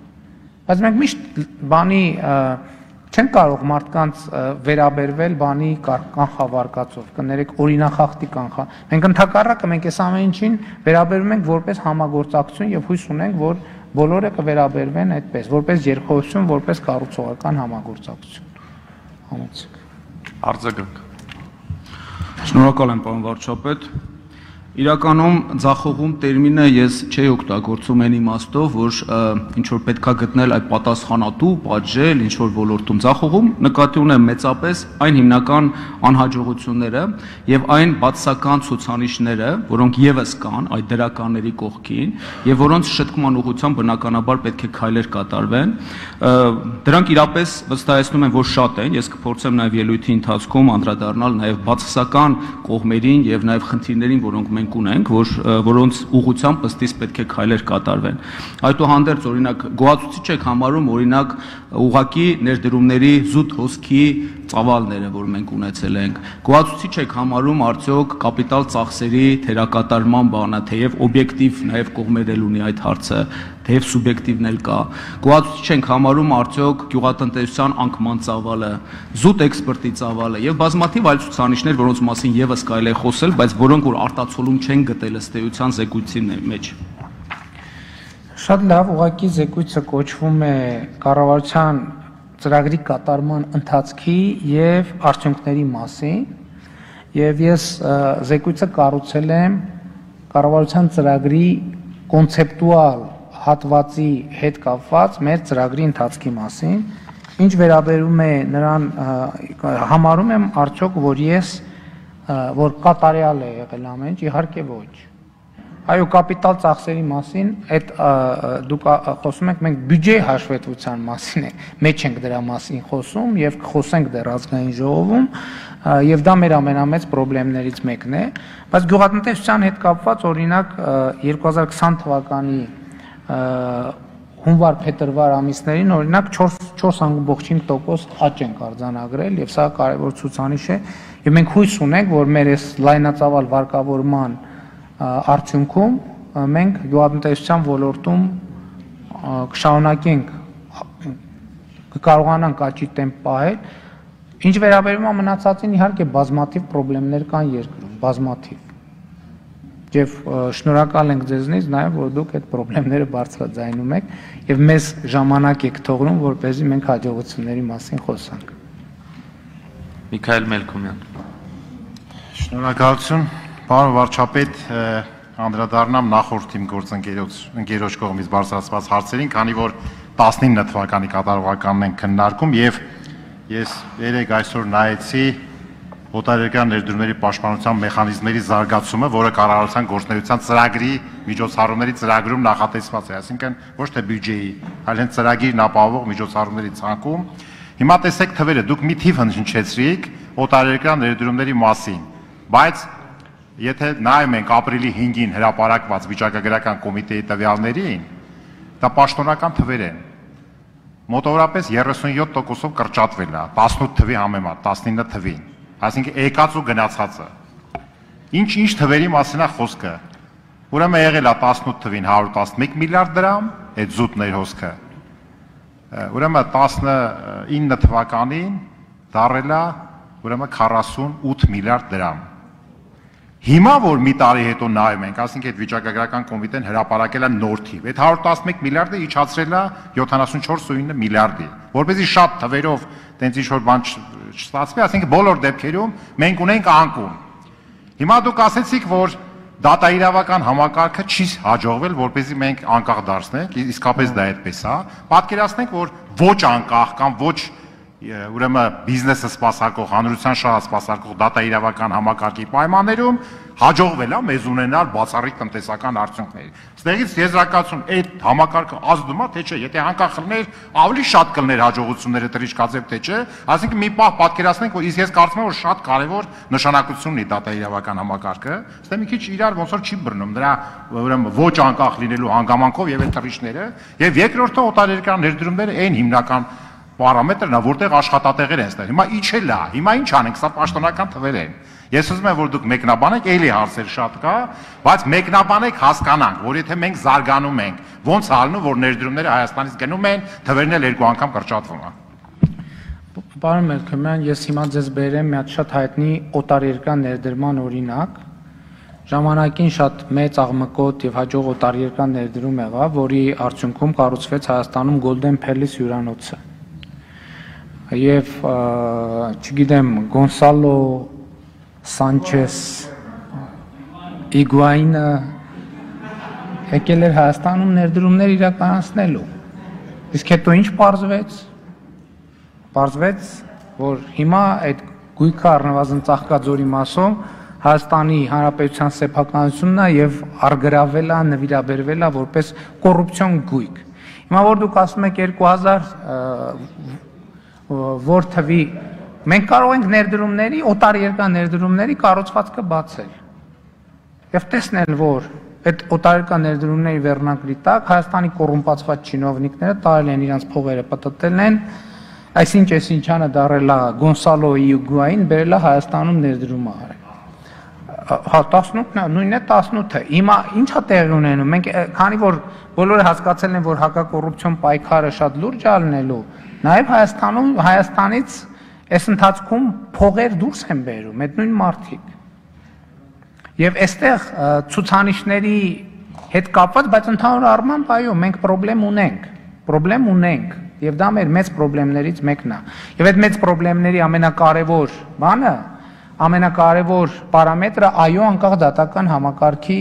Բայց մենք միշտ բանի չեն կարող մարդկանց վերաբերվել բանի կանխավարկածով, կներեք օրինախախտի կանխա։ Մենք ընդհակառակը մենք այս ամեն ինչին վերաբերում ենք որպես համագործակցություն եւ հույս ունենք, որ բոլորը կվերաբերվեն այդպես, որպես երկխոսություն, որպես կառուցողական համագործակցություն։ Համեցեք։ Արձագանք։ Շնորհակալ եմ, պարոն վարչապետ։ Իրականում ձախողում տերմինը ես չէի օգտագործում այն իմաստով, որ ինչ որ պետքա գտնել այդ պատասխանատու, պատժել, ինչ որ ոլորտում ձախողում, նկատի ունեմ մեծապես այն հիմնական անհաջողությունները եւ այն բացասական ցուցանիշները, որոնք եւս կան այդ դրականների կողքին եւ որոնց շտկման ուղղությամբ բնականաբար պետք է քայլեր կատարվեն։ Դրանք իրապես վստահեցնում են, որ շատ են, ես կփորձեմ նաեւ ելույթի ընթացքում անդրադառնալ նաեւ բացասական կողմերին եւ նաեւ խնդիրներին, որոնք մենք մենք ունենք, որ որոնց ուղղությամբ ըստիս պետք է քայլեր կատարվեն։ Այդուհանդերձ օրինակ գոհացուցիչ եք համարում օրինակ ուղղակի ներդրումների զուտ հոսքի ծավալները, որ մենք ունեցել ենք։ Գոհացուցիչ եք համարում արդյոք կապիտալ ծախսերի թերակատարման բանը, թեև օբյեկտիվ նաև կողմեր էլ ունի այդ հարցը, թեև սուբյեկտիվն էլ կա։ Գոհացուցիչ ենք համարում արդյոք գյուղատնտեսության անկման ծավալը, զուտ էքսպորտի ծավալը եւ բազմաթիվ այլ ցուցանիշներ, որոնց մասին եւս կարելի է խոսել, բայց որոնք որ արտացոլում չեն գտել ըստ էության զեկույցի մեջ։ Շատ լավ, ուղղակի զեկույցը կոչվում է կառավարության ծրագրի կատարման ընթացքի եւ արդյունքների մասին, եւ ես զեկույցը կառուցել եմ կառավարության ծրագրի կոնցեպտուալ հատվածի հետ կապված մեր ծրագրի ընթացքի մասին, ինչ վերաբերում է նրան համարում եմ արդյոք որ ես որ կատարյալ է եղել ամեն ինչ, իհարկե ոչ։ Այո, կապիտալ ծախսերի մասին այդ դուք խոսում եք, մենք բյուջեի հաշվետվության մասին է, մեջ ենք դրա մասին խոսում եւ կխոսենք դեռ ազգային ժողովում, եւ դա մեր ամենամեծ խնդիրներից մեկն է, բայց գյուղատնտեսության հետ կապված օրինակ երկու հազար քսան թվականի հունվար-փետրվար ամիսներին օրինակ չորս անգամ չորս տոկոս աճ ենք արձանագրել եւ սա կարեւոր ցուցանիշ է եւ մենք հույս ունենք, որ մեր այս լայնածավալ վարկավորման արդյունքում մենք գյուղատնտեսության ոլորտում կշարունակենք կկարողանանք աճի տեմպ պահել։ Ինչ վերաբերում է մնացածին, իհարկե բազմաթիվ խնդիրներ կան երկրում, բազմաթիվ։ Եվ շնորհակալ ենք ձեզնից նաև, որ դուք այդ խնդիրները բարձրաձայնում եք եւ մեզ ժամանակ եք թողնում, որպեսզի մենք հաջողությունների մասին խոսանք։ Միքայել Մելքոմյան։ Շնորհակալություն, պարոն վարչապետ, անդրադառնամ նախորդ իմ գործընկերոջ ընկերոջ կողմից բարձրացված հարցերին, քանի որ տասնինը թվականի կատարողականն ենք քննարկում եւ ես երեք այսօր նայեցի օտարերկրյա ներդրումների պաշտպանության մեխանիզմների զարգացումը, որը կառավարության գործունեության ծրագրի միջոցառումների ծրագրում նախատեսված է, այսինքն ոչ թե բյուջեի, այլ հենց ծրագիրն ապահովող միջոցառումների ցանկում։ Հիմա տեսեք թվերը, դուք մի թիվ հնչեցրիք օտարերկրյա ներդրումների մասին, բայց եթե նայում ենք ապրիլի հինգին հրապարակված վիճակագրական կոմիտեի տվյալներին, դա պաշտոնական թվեր են։ Մոտավորապես երեսունյոթ տոկոսով կրճատվել է տասնութ թվի համեմատ տասնինը թվին, այսինքն եկած ու գնացածը։ Ինչ-ինչ թվերի մասին է խոսքը։ Ուրեմն եղել է տասնութ թվին հարյուր տասնմեկ միլիարդ դրամ, այդ զուտ ներհոսքը։ Ուրեմն տասնինը թվականին դառել է ուրեմն քառասունութ միլիարդ դրամ։ Հիմա որ մի տարի հետո նայում ենք, ասենք այդ վիճակագրական կոմիտեն հրապարակել է նոր թիվ, այդ հարյուր տասնմեկ միլիարդը իջացրել է յոթանասունչորս միլիարդի, որպեսզի շատ թվերով տենց ինչ-որ բան չստացվի, ասենք բոլոր դեպքերում մենք ունենք անկում։ Հիմա դուք ասեցիք, որ դատաիրավական համակարգը չի հաջողվել, որպեսզի մենք անկախ դարձնենք, իսկապես դա այդպես է։ Պատկերացնենք, որ ոչ անկախ կամ ոչ ուրեմն բիզնեսը սպասարկող, հանրության շահը սպասարկող դատաիրավական համակարգի պայմաններում հաջողվել է մեզ ունենալ բացառիկ տնտեսական արդյունքներ։ Ստեղից եզրակացություն այդ համակարգը ազդում է, թե չէ, եթե անկախ լիներ, ավելի շատ կլներ հաջողությունները թռիչքաձև, թե չէ, այսինքն մի պահ պատկերացնենք, որ իսկ ես կարծում եմ, որ շատ կարևոր նշանակություն ունի դատաիրավական համակարգը, ստե մի քիչ իրար ոնց որ չի բռնում դրա ուրեմն ոչ անկախ լինելու հանգամանքով եւ այդ թռիչքները, եւ երկրորդը օտարերկրյա ներդրումները այն հիմնական պարամետրն է, որտեղ աշխատատեղեր են ստեղ։ Հիմա իջել է, հիմա ինչ անենք, սա պաշտոնական թվեր են։ Ես ուզում եմ, որ դուք մեկնաբանեք, էլի հարցեր շատ կա, բայց մեկնաբանեք հասկանանք, որ եթե մենք զարգանում ենք, ոնց է ալնում, որ ներդրումները Հայաստանից գնում են, թվերն էլ երկու անգամ կրճատվում է։ Պարոն Մելքոմյան, ես հիմա ձեզ բերեմ մի հատ շատ հայտնի օտարերկրյա ներդրման օրինակ։ Ժամանակին շատ մեծ աղմկոտ եւ հաջող օտարերկրյա ներդրում եղավ, որի արդյունքում կառուցվեց Հայաստանում Golden Palace հյուրանոցը։ Եվ չգիտեմ Գոնսալո Սանչես Իգուայինը եկել էր Հայաստանում ներդրումներ իրականացնելու։ Իսկ հետո ինչ պարզվեց։ Պարզվեց, որ հիմա այդ գույքը առնվազն Ծաղկաձորի մասում Հայաստանի Հանրապետության սեփականությունն է եւ արգրավել է, նվիրաբերվել է որպես կոռուպցիոն գույք։ Հիմա որ դուք ասում եք երկու հազար որ թվի մենք կարող ենք ներդրումների, օտարերկրյա ներդրումների կառուցվածքը բացել։ եւ տեսնել, որ այդ օտարերկրյա ներդրումների վերնակրի տակ Հայաստանի կոռումպացված չինովնիկները տարել են իրենց փողերը, պատտել են, այսինչ այսինչանը դարելա Գոնսալո Իուգուային, բերելա Հայաստանում ներդրում արել։ Հա տասնութն է, նույնն է տասնութը։ Հիմա ի՞նչ է տեղի ունենում։ Մենք քանի որ բոլորը հասկացել են, որ հակակոռուպցիոն պայքարը շատ լուրջ է լինելու, նաև Հայաստանում Հայաստանից այս ընթացքում փողեր դուրս են բերում, այդ նույն մարդիկ։ Եվ այստեղ ցուցանիշների հետ կապված, բայց ընդհանուր առմամբ այո, մենք խնդրեմ ունենք, խնդրեմ ունենք, եւ դա մեր մեծ խնդիրներից մեկն է։ Եվ այդ մեծ խնդիրների ամենակարևոր բանը, ամենակարևոր պարամետրը այո, անկախ դատական համակարգի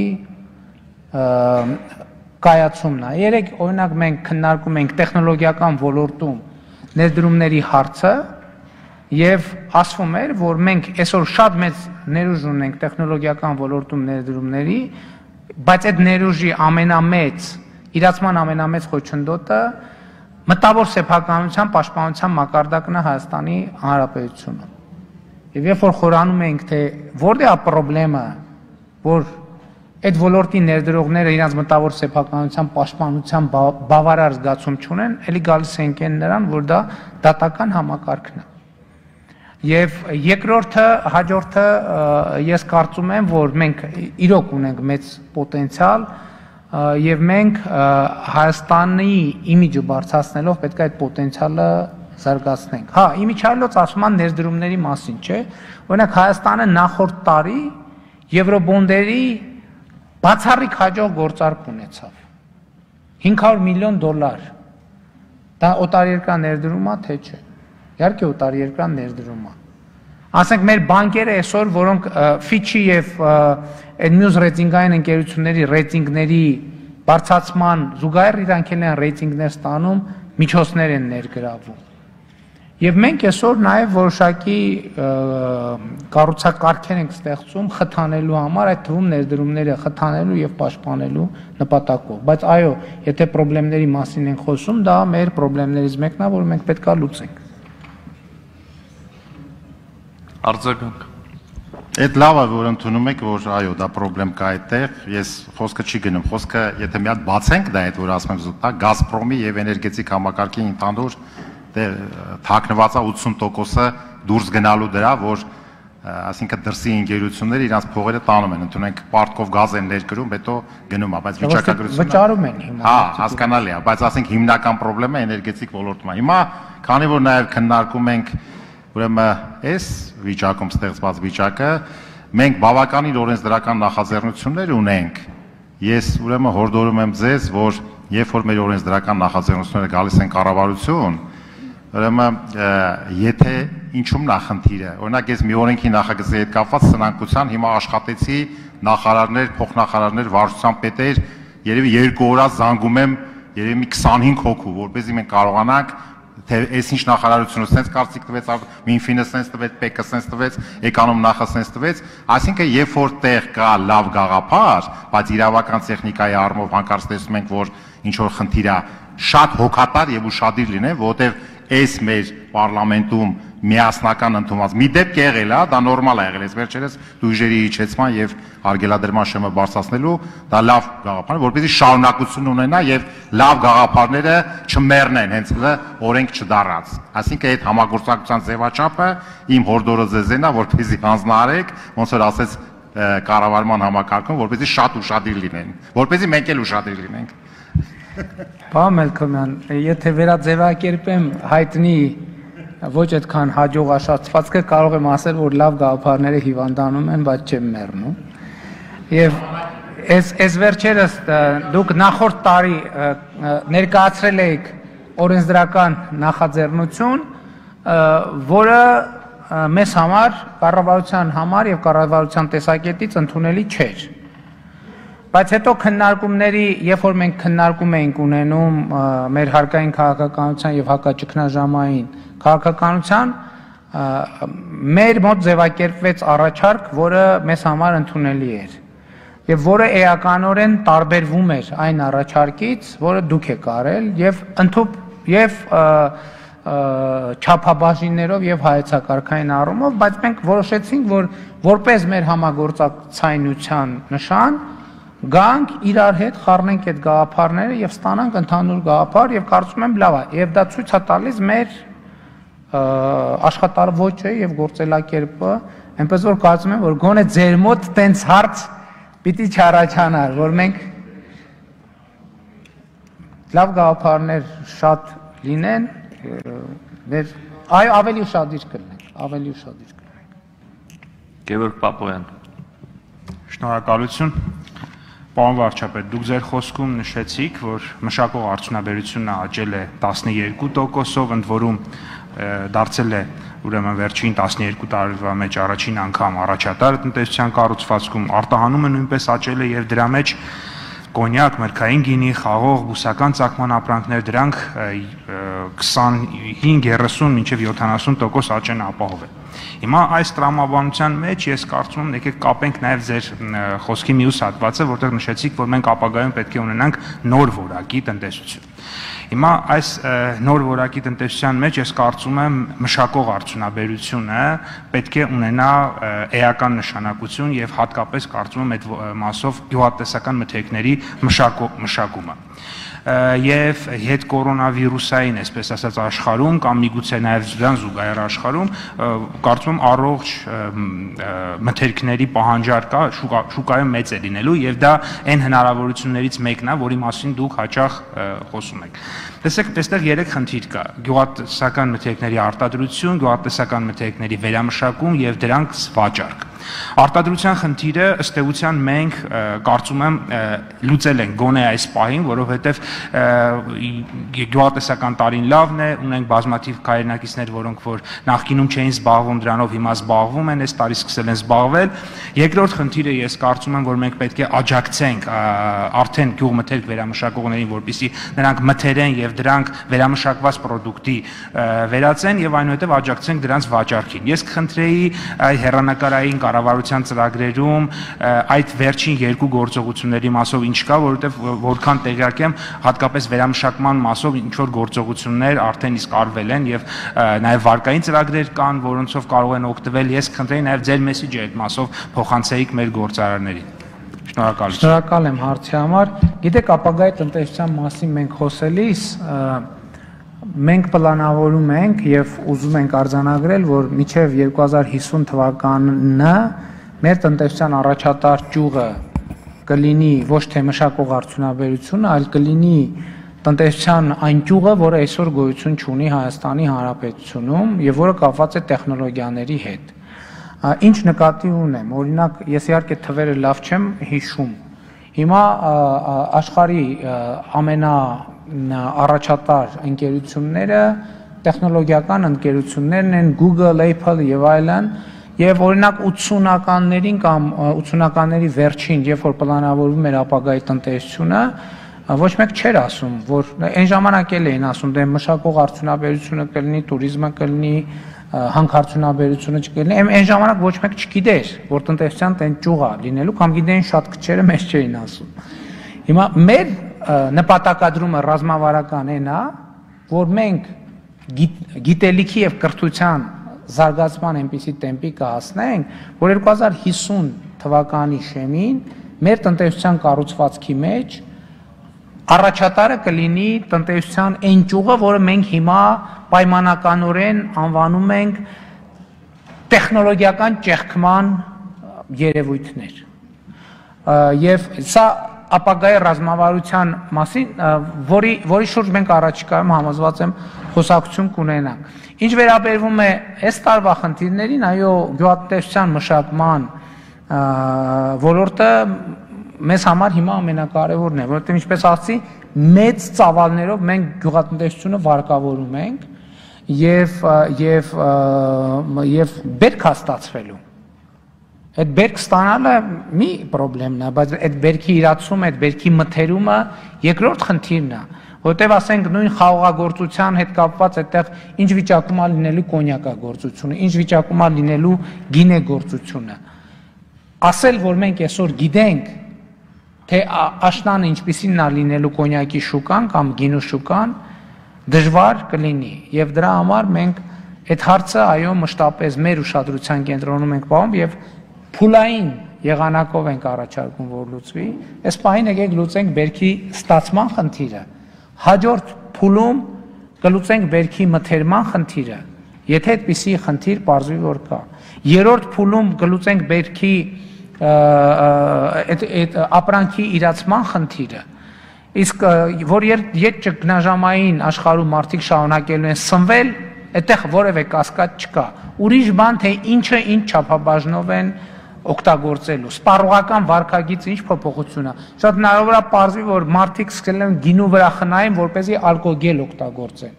կայացումն է։ Երեք օրինակ մենք քննարկում ենք տեխնոլոգիական ոլորտում ներդրումների հարցը եւ ասվում էր, որ մենք այսօր շատ մեծ ներուժ ունենք տեխնոլոգիական ոլորտում ներդրումների, բայց այդ ներուժի ամենամեծ, իրացման ամենամեծ խոչընդոտը մտավոր սեփականության պաշտպանության մակարդակն է Հայաստանի Հանրապետությունում։ Եվ երբ որ խորանում ենք, թե որտե՞ղ է խնդրեմը, որ այդ ոլորտի ներդրողները իրենց մտավոր սեփականության պաշտպանության բավարար զգացում չունեն, ելի գալիս ենք այն նրան, որ դա դատական համակարգն է։ Եվ երկրորդը, հաջորդը ես կարծում եմ, որ մենք իրոք ունենք մեծ պոտենցիալ եւ մենք Հայաստանի իմիջը բարձրացնելով պետք է այդ պոտենցիալը զարգացնենք։ Հա, իմիջայլոց ասում են ներդրումների մասին, չէ՞։ Օրինակ Հայաստանը նախորդ տարի եվրոբոնդերի բացառիկ հաջող գործարք ունեցավ։ հինգ հարյուր միլիոն դոլար։ Դա օտարերկրյա ներդրում է, թե չէ։ Իհարկե օտարերկրյա ներդրում է։ Ասենք մեր բանկերը այսօր, որոնք Fitch-ի եւ այդ մյուս ռեյտինգային ընկերությունների ռեյտինգների բարձրացման զուգահեռ իրանք են ռեյտինգներ ստանում, միջոցներ են ներգրավում։ Եվ մենք այսօր նաև որոշակի կառուցակարգեր ենք ստեղծում խթանելու համար, այդ թվում ներդրումները խթանելու եւ պաշտպանելու նպատակով։ Բայց այո, եթե խնդիրների մասին ենք խոսում, դա մեր խնդիրներից մեկն է, որ մենք պետք է լուծենք։ Արձագանք։ Այդ լավ է, որ ընդունում եք, որ այո, դա խնդրեմ կա այդտեղ, ես խոսքը չի գնում, խոսքը եթե մի հատ բացենք դա այդ, որ ասում եմ զուտա, Գազպրոմի եւ էներգետիկ համակարգի ընդհանուր թաքնված է ութսուն տոկոսը դուրս գնալու դրա, որ ասինքն դրսի ընկերությունները իրենց փողերը տանում են, ընդունենք պարտքով գազ են ներկրում, հետո գնում է, բայց վիճակագրությունը վճարում են հիմա։ Հա, հասկանալի է, բայց ասենք հիմնական խնդրեմը էներգետիկ ոլորտում է։ Հիմա, քանի որ նաև քննարկում ենք ուրեմն այս վիճակում ստեղծված վիճակը, մենք բավականին օրենսդրական նախաձեռնություններ ունենք։ Ես ուրեմն հորդորում եմ ձեզ, որ երբ որ մեր օրենսդրական նախաձեռնությունները գալիս են կառավարություն, ուրեմն եթե ինչու՞մն է խնդիրը։ Օրինակ ես մի օրենքի նախագծի հետ կապված սնանկության հիմա աշխատեցի նախարարներ, փոխնախարարներ, վարչության պետեր, երևի երկու օր զանգում եմ, երևի մի քսանհինգ հոգու, որպեսզի մենք կարողանանք թե այս ինչ նախարարությունը sense կարծիք տվեց, Մինֆինը sense տվեց, ՊԵԿ-ը sense տվեց, Էկոնոմ նախը sense տվեց, այսինքն երբ որ տեղ կա լավ գաղափար, բայց իրավական տեխնիկայի առումով հանկարծ տեսնում ենք, որ ինչ որ խնդիր է, շատ հոգատար եւ ուշադիր լինեն, որովհետեւ այս մեր պարլամենտում միասնական ընդունված մի դեպք եղել է, դա նորմալ է եղել, այս վերջերս դույժերի իջեցման եւ արգելադրման շեմը բարձրացնելու, դա լավ գաղափար է, որպեսզի շարունակություն ունենա եւ լավ գաղափարները չմեռնեն, հենց դա օրենք չդառած։ Այսինքն այդ համագործակցության ձևաչափը իմ հորդորը ձեզն է, որպեսզի հանձնարարեք, ոնց որ ասեց կառավարման համակարգում, որպեսզի շատ ուշադիր լինեն, որպեսզի մենք էլ ուշադիր լինենք։ Պարոն Մելքոմյան, եթե վերաձևակերպեմ հայտնի ոչ այդքան հաջողաշացվածքը, կարող եմ ասել, որ լավ գաղափարները հիվանդանում են, բայց չեն մեռնում։ Եվ այս այս վերջերս դուք նախորդ տարի ներկայացրել եք օրենսդրական նախաձեռնություն, որը մեզ համար, կառավարության համար եւ կառավարության տեսակետից ընդունելի չէր։ Բայց հետո քննարկումների, երբ որ մենք քննարկում էինք ունենում մեր հարկային քաղաքականության եւ հակաճգնաժամային քաղաքականության, մեր մոտ ձևակերպվեց առաջարկ, որը մեզ համար ընդունելի էր եւ որը էականորեն տարբերվում էր այն առաջարկից, որը դուք եք արել եւ ընդհանուր եւ չափաբաժիններով եւ հայեցակարգային առումով, բայց մենք որոշեցինք, որ որպես մեր համագործակցայնության նշան գանք իրար հետ խառնենք այդ գաղափարները եւ ստանանք ընդհանուր գաղափար եւ կարծում եմ լավ է եւ դա ցույց է տալիս մեր աշխատարվոճը եւ գործելակերպը, այնպես որ կարծում եմ, որ գոնե ձեր մոտ տենց հարց պիտի չառաջանար, որ մենք լավ գաղափարներ շատ լինեն, մեր այ ավելի ուշադիր կլինենք, ավելի ուշադիր կլինենք։ Գևորգ Պապոյան։ Շնորհակալություն։ Պարոն վարչապետ, դուք ձեր խոսքում նշեցիք, որ մշակող արդյունաբերությունը աճել է տասնյոթ տոկոսով, ընդ որում դարձել է ուրեմն վերջին տասնյոթ տարվա մեջ առաջին անգամ առաջատար տնտեսության կառուցվածքում, արտահանումը նույնպես աճել է եւ դրա մեջ կոնյակ, մրգային գինի, խաղող, բուսական ծագման ապրանքներ, դրանք քսանհինգ երեսուն մինչև յոթանասուն տոկոս աճ են ապահովել։ Հիմա այս տրամաբանության մեջ ես կարծում եմ եկեք կապենք նաև ձեր խոսքի մյուս հատվածը, որտեղ նշեցիք, որ մենք ապագայում պետք է ունենանք նոր որակի տնտեսություն։ Հիմա այս նոր որակի տնտեսության մեջ ես կարծում եմ մշակող արդյունաբերությունը պետք է ունենա էական նշանակություն եւ հատկապես կարծում եմ այդ մասով գյուղատնտեսական մթերքների մշակումը։ Եվ հետ կորոնավիրուսային, այսպես ասած, աշխարհում կամ միգուցե նաև դրան զուգահեռ աշխարհում կարծում եմ առողջ մթերքների պահանջարկը շուկայում մեծ է լինելու եւ դա այն հնարավորություններից մեկն է, որի մասին դուք հաճախ խոսում եք։ Տեսեք, այստեղ երեք խնդիր կա՝ գյուղատնտեսական մթերքների արտադրություն, գյուղատնտեսական մթերքների վերամշակում եւ դրանց վաճառք։ Արտադրության խնդիրը ըստ էության մենք կարծում եմ լուծել ենք գոնե այս պահին, որովհետև գյուղատնտեսական տարին լավն է, ունենք բազմաթիվ հայրենակիցներ, որոնք որ նախկինում չէին զբաղվում դրանով, հիմա զբաղվում են, այս տարի սկսել են զբաղվել։ Երկրորդ խնդիրը ես կարծում եմ, որ մենք պետք է աջակցենք արդեն գյուղմթերք վերամշակողներին, որպեսզի նրանք մթերեն եւ դրանք վերամշակված պրոդուկտի վերածեն եւ այնուհետեւ աջակցենք դրանց վաճառքին։ Ես կխնդրեի հեռանկարային կառավարության ծրագրերում այդ վերջին երկու գործողությունների մասով ինչ կա, որովհետև որքան տեղյակ եմ, հատկապես վերամշակման մասով ինչ որ գործողություններ արդեն իսկ արվել են եւ նաեւ վարկային ծրագրեր կան, որոնցով կարող են օգտվել։ Ես կխնդրեի նաեւ ձեր մեսիջը այդ մասով փոխանցեիք մեր գործարարներին։ Շնորհակալություն։ Շնորհակալ եմ հարցի համար։ Գիտեք, ապագայի տնտեսության մասին մենք խոսելիս մենք պլանավորում ենք եւ ուզում ենք արձանագրել, որ մինչեւ երկու հազար հիսուն թվականը մեր տնտեսության առաջատար ճյուղը կլինի ոչ թե մշակող արդյունաբերությունը, այլ կլինի տնտեսության այն ճյուղը, որը այսօր գոյություն ունի Հայաստանի Հանրապետությունում եւ որը կապված է տեխնոլոգիաների հետ։ Ինչ նկատի ունեմ, օրինակ, ես իհարկե թվերը լավ չեմ հիշում։ Հիմա աշխարհի ամենա առաջատար ընկերությունները տեխնոլոգիական ընկերություններն են Google, Apple եւ այլն, եւ օրինակ ութսունականներին կամ ութսունականների վերջին, երբ որ պլանավորվում էր ապագայի տնտեսությունը, ոչ մեկ չէր ասում, որ այն ժամանակ էլ էին ասում, դե մշակող արդյունաբերությունը կլինի, туриզմը կլինի, հանքարդյունաբերությունը չկլինի, այն ժամանակ ոչ մեկ չգիտեր, որ տնտեսության տեն ճյուղ է լինելու, կամ գիտեին շատ քչերը, մեզ չէին ասում։ Հիմա մեր նպատակադրումը ռազմավարական այն է, որ մենք գիտելիքի եւ կրթության զարգացման այնպիսի տեմպի կհասնենք, որ երկու հազար հիսուն թվականի շեմին մեր տնտեսության կառուցվածքի մեջ առաջատարը կլինի տնտեսության այն ճյուղը, որը մենք հիմա պայմանականորեն անվանում ենք տեխնոլոգիական ճեղքման երևույթներ։ Եվ սա ապագայի ռազմավարության մասին, որի որի շուրջ մենք առաջիկայում համոզված եմ խոսակցություն կունենանք։ Ինչ վերաբերվում է այս տարվա խնդիրներին, այո, գյուղատնտեսության մշակման ոլորտը մեզ համար հիմա ամենակարևորն է, որովհետև ինչպես ասացի, մեծ ծավալներով մենք գյուղատնտեսությունը վարկավորում ենք եւ եւ եւ բերք հաստատվելու։ Այդ բերք ստանալը մի խնդրեմն է, բայց այդ բերքի իրացումը, այդ բերքի մթերումը երկրորդ խնդիրն է, որտեվ ասենք նույն խաղողագործության հետ կապված այդտեղ ինչ վիճակում է լինելու կոնյակագործությունը, ինչ վիճակում է լինելու գինեգործությունը։ Ասել, որ մենք այսօր գիտենք, թե աշնանը ինչպիսին է լինելու կոնյակի շուկան կամ գինու շուկան, դժվար կլինի եւ դրա համար մենք այդ հարցը այո մշտապես մեր ուշադրության կենտրոնում ենք պահում եւ փուլային եղանակով ենք առաջարկում որ լուծվի այս պահին եկեք լուծենք բերքի ստացման խնդիրը հաջորդ փուլում կլուծենք բերքի մթերման խնդիրը եթե այդպիսի խնդիր պարզվի որ կա երրորդ փուլում կլուծենք բերքի այդ ապրանքի իրացման խնդիրը իսկ որ երբ ճգնաժամային աշխարհում մարդիկ շարունակելու են սնվել այդտեղ որևէ կասկած չկա ուրիշ բան թե ինչը ինչ չափաբաժնով են օգտագործելու սպառողական վարքագիծը ինչ փոփոխություն է շատ հնարավոր է պարզվի որ մարդիկ սկսել են գինու վրա խնայեն որպեսզի ալկոգել օգտագործեն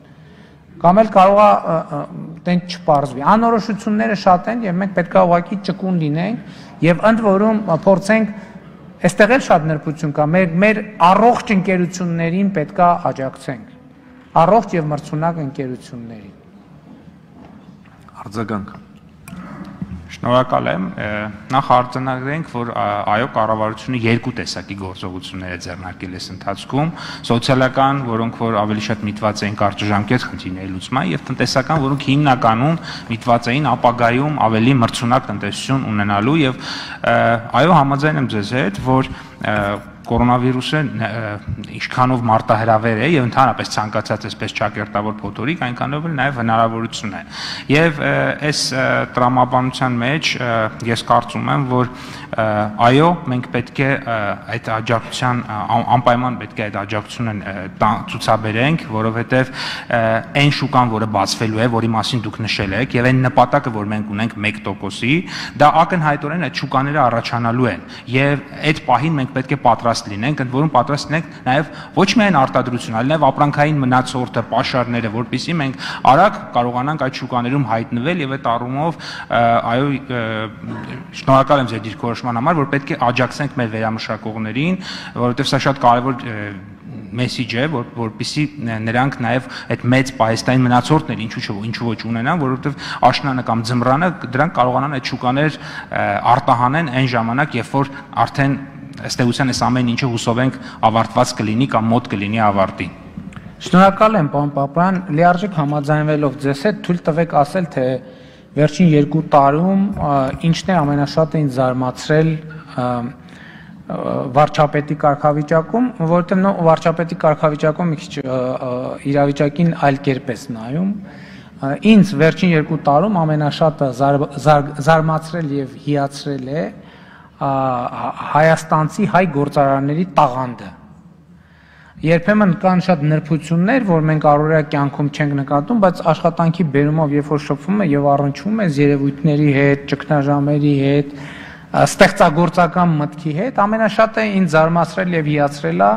կամ էլ կարող է տենց չպարզվի անորոշությունները շատ են եւ մենք պետք է ուղղակի ճկուն լինենք եւ ընդ որում փորձենք այստեղ էլ շատ նրբություն կա մեր մեր առողջ ընկերություններին պետք է աջակցենք առողջ եւ մրցունակ ընկերություններին Արձագանք Շնորհակալ եմ նախ արձանագրենք որ այո կառավարությունը երկու տեսակի գործողություններ է ձեռնարկել այս ընթացքում սոցիալական որոնք որ ավելի շատ միտված էին կարճաժամկետ խնդիրների լուծման եւ տնտեսական որոնք հիմնականում միտված էին ապագայում ավելի մրցունակ տնտեսություն ունենալու եւ այո համաձայն եմ ձեզ հետ որ կորոնավիրուսը ինչքանով մարտահրավեր է եւ ընդհանրապես ցանկացած այսպես ճակերտավոր փոթորիկ այնքանով էլ նաեւ հնարավորություն է եւ այս տրամաբանության մեջ ես կարծում եմ որ այո մենք պետք է այդ աջակցության անպայման պետք է այդ աջակցությունը ցուցաբերենք որովհետեւ այն շուկան որը բացվելու է որի մասին դուք նշել եք եւ այն նպատակը որ մենք ունենք մեկ տոկոսի դա ակնհայտորեն այդ շուկաները առաջանալու են եւ այդ պահին մենք պետք է պատրաստ լինենք, ընդ որում պատրաստ լինենք նաև ոչ միայն արտադրություն, այլ նաև ապրանքային մնացորդը, պաշարները, որպեսզի մենք արագ կարողանանք այդ շուկաներում հայտնվել եւ այդ առումով այո շնորհակալ եմ ձեր դիրքորոշման համար, որ պետք է աջակցենք մեր վերամշակողներին, որովհետեւ սա շատ կարեւոր մեսիջ է, որ որպեսզի նրանք նաև այդ մեծ պահեստային մնացորդներ ինչու չէ ինչու ոչ ունենան, որովհետև աշնանը կամ ձմռանը դրանք կարողանան այդ շուկաներ արտահանեն այն ժամանակ, երբ որ արդեն ըստ էության այս ամեն ինչը հուսով ենք ավարտված կլինի կամ մոտ կլինի ավարտին։ Շնորհակալ եմ, պարոն Պապյան, լիարժեք համաձայնվելով ձեզ հետ թույլ տվեք ասել, թե վերջին երկու տարում ինչն է ամենաշատը ինձ զարմացրել վարչապետի կարգավիճակում, որովհետև նո վարչապետի կարգավիճակում մի քիչ իրավիճակին այլ կերպ է նայում։ Ինձ վերջին երկու տարում ամենաշատը զարմացրել եւ հիացրել է հայաստանցի հայ գործարարների տաղանդը։ Երբեմն կան շատ նրբություններ, որ մենք առօրյա կյանքում չենք նկատում, բայց աշխատանքի բերումով երբ որ շփվում է եւ առնչվում է երևույթների հետ, ճգնաժամերի հետ, ստեղծագործական մտքի հետ, ամենաշատը ինձ զարմացրել եւ հիացրել է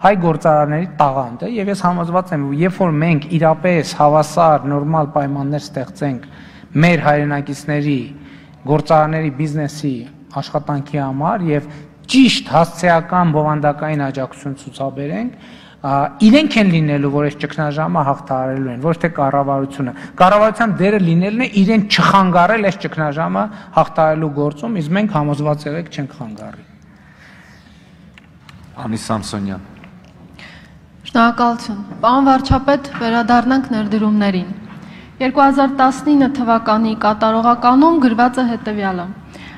հայ գործարարների տաղանդը եւ ես համոզված եմ, երբ որ մենք իրապես հավասար նորմալ պայմաններ ստեղծենք մեր հայրենակիցների գործարարների բիզնեսի աշխատանքի համար եւ ճիշտ հասցեական բովանդակային աջակցություն ցուցաբերենք, իրենք են լինելու, որ այս ճգնաժամը հաղթահարելու են, ոչ թե կառավարությունը։ Կառավարության դերը լինելն է իրեն չխանգարել այս ճգնաժամը հաղթահարելու գործում, իսկ մենք համոզված եղեք չենք խանգարի։ Անի Սամսոնյան։ Շնորհակալություն։ Պարոն վարչապետ, վերադառնանք ներդրումներին։ երկու հազար տասնինը թվականի կատարողականում գրված է հետևյալը.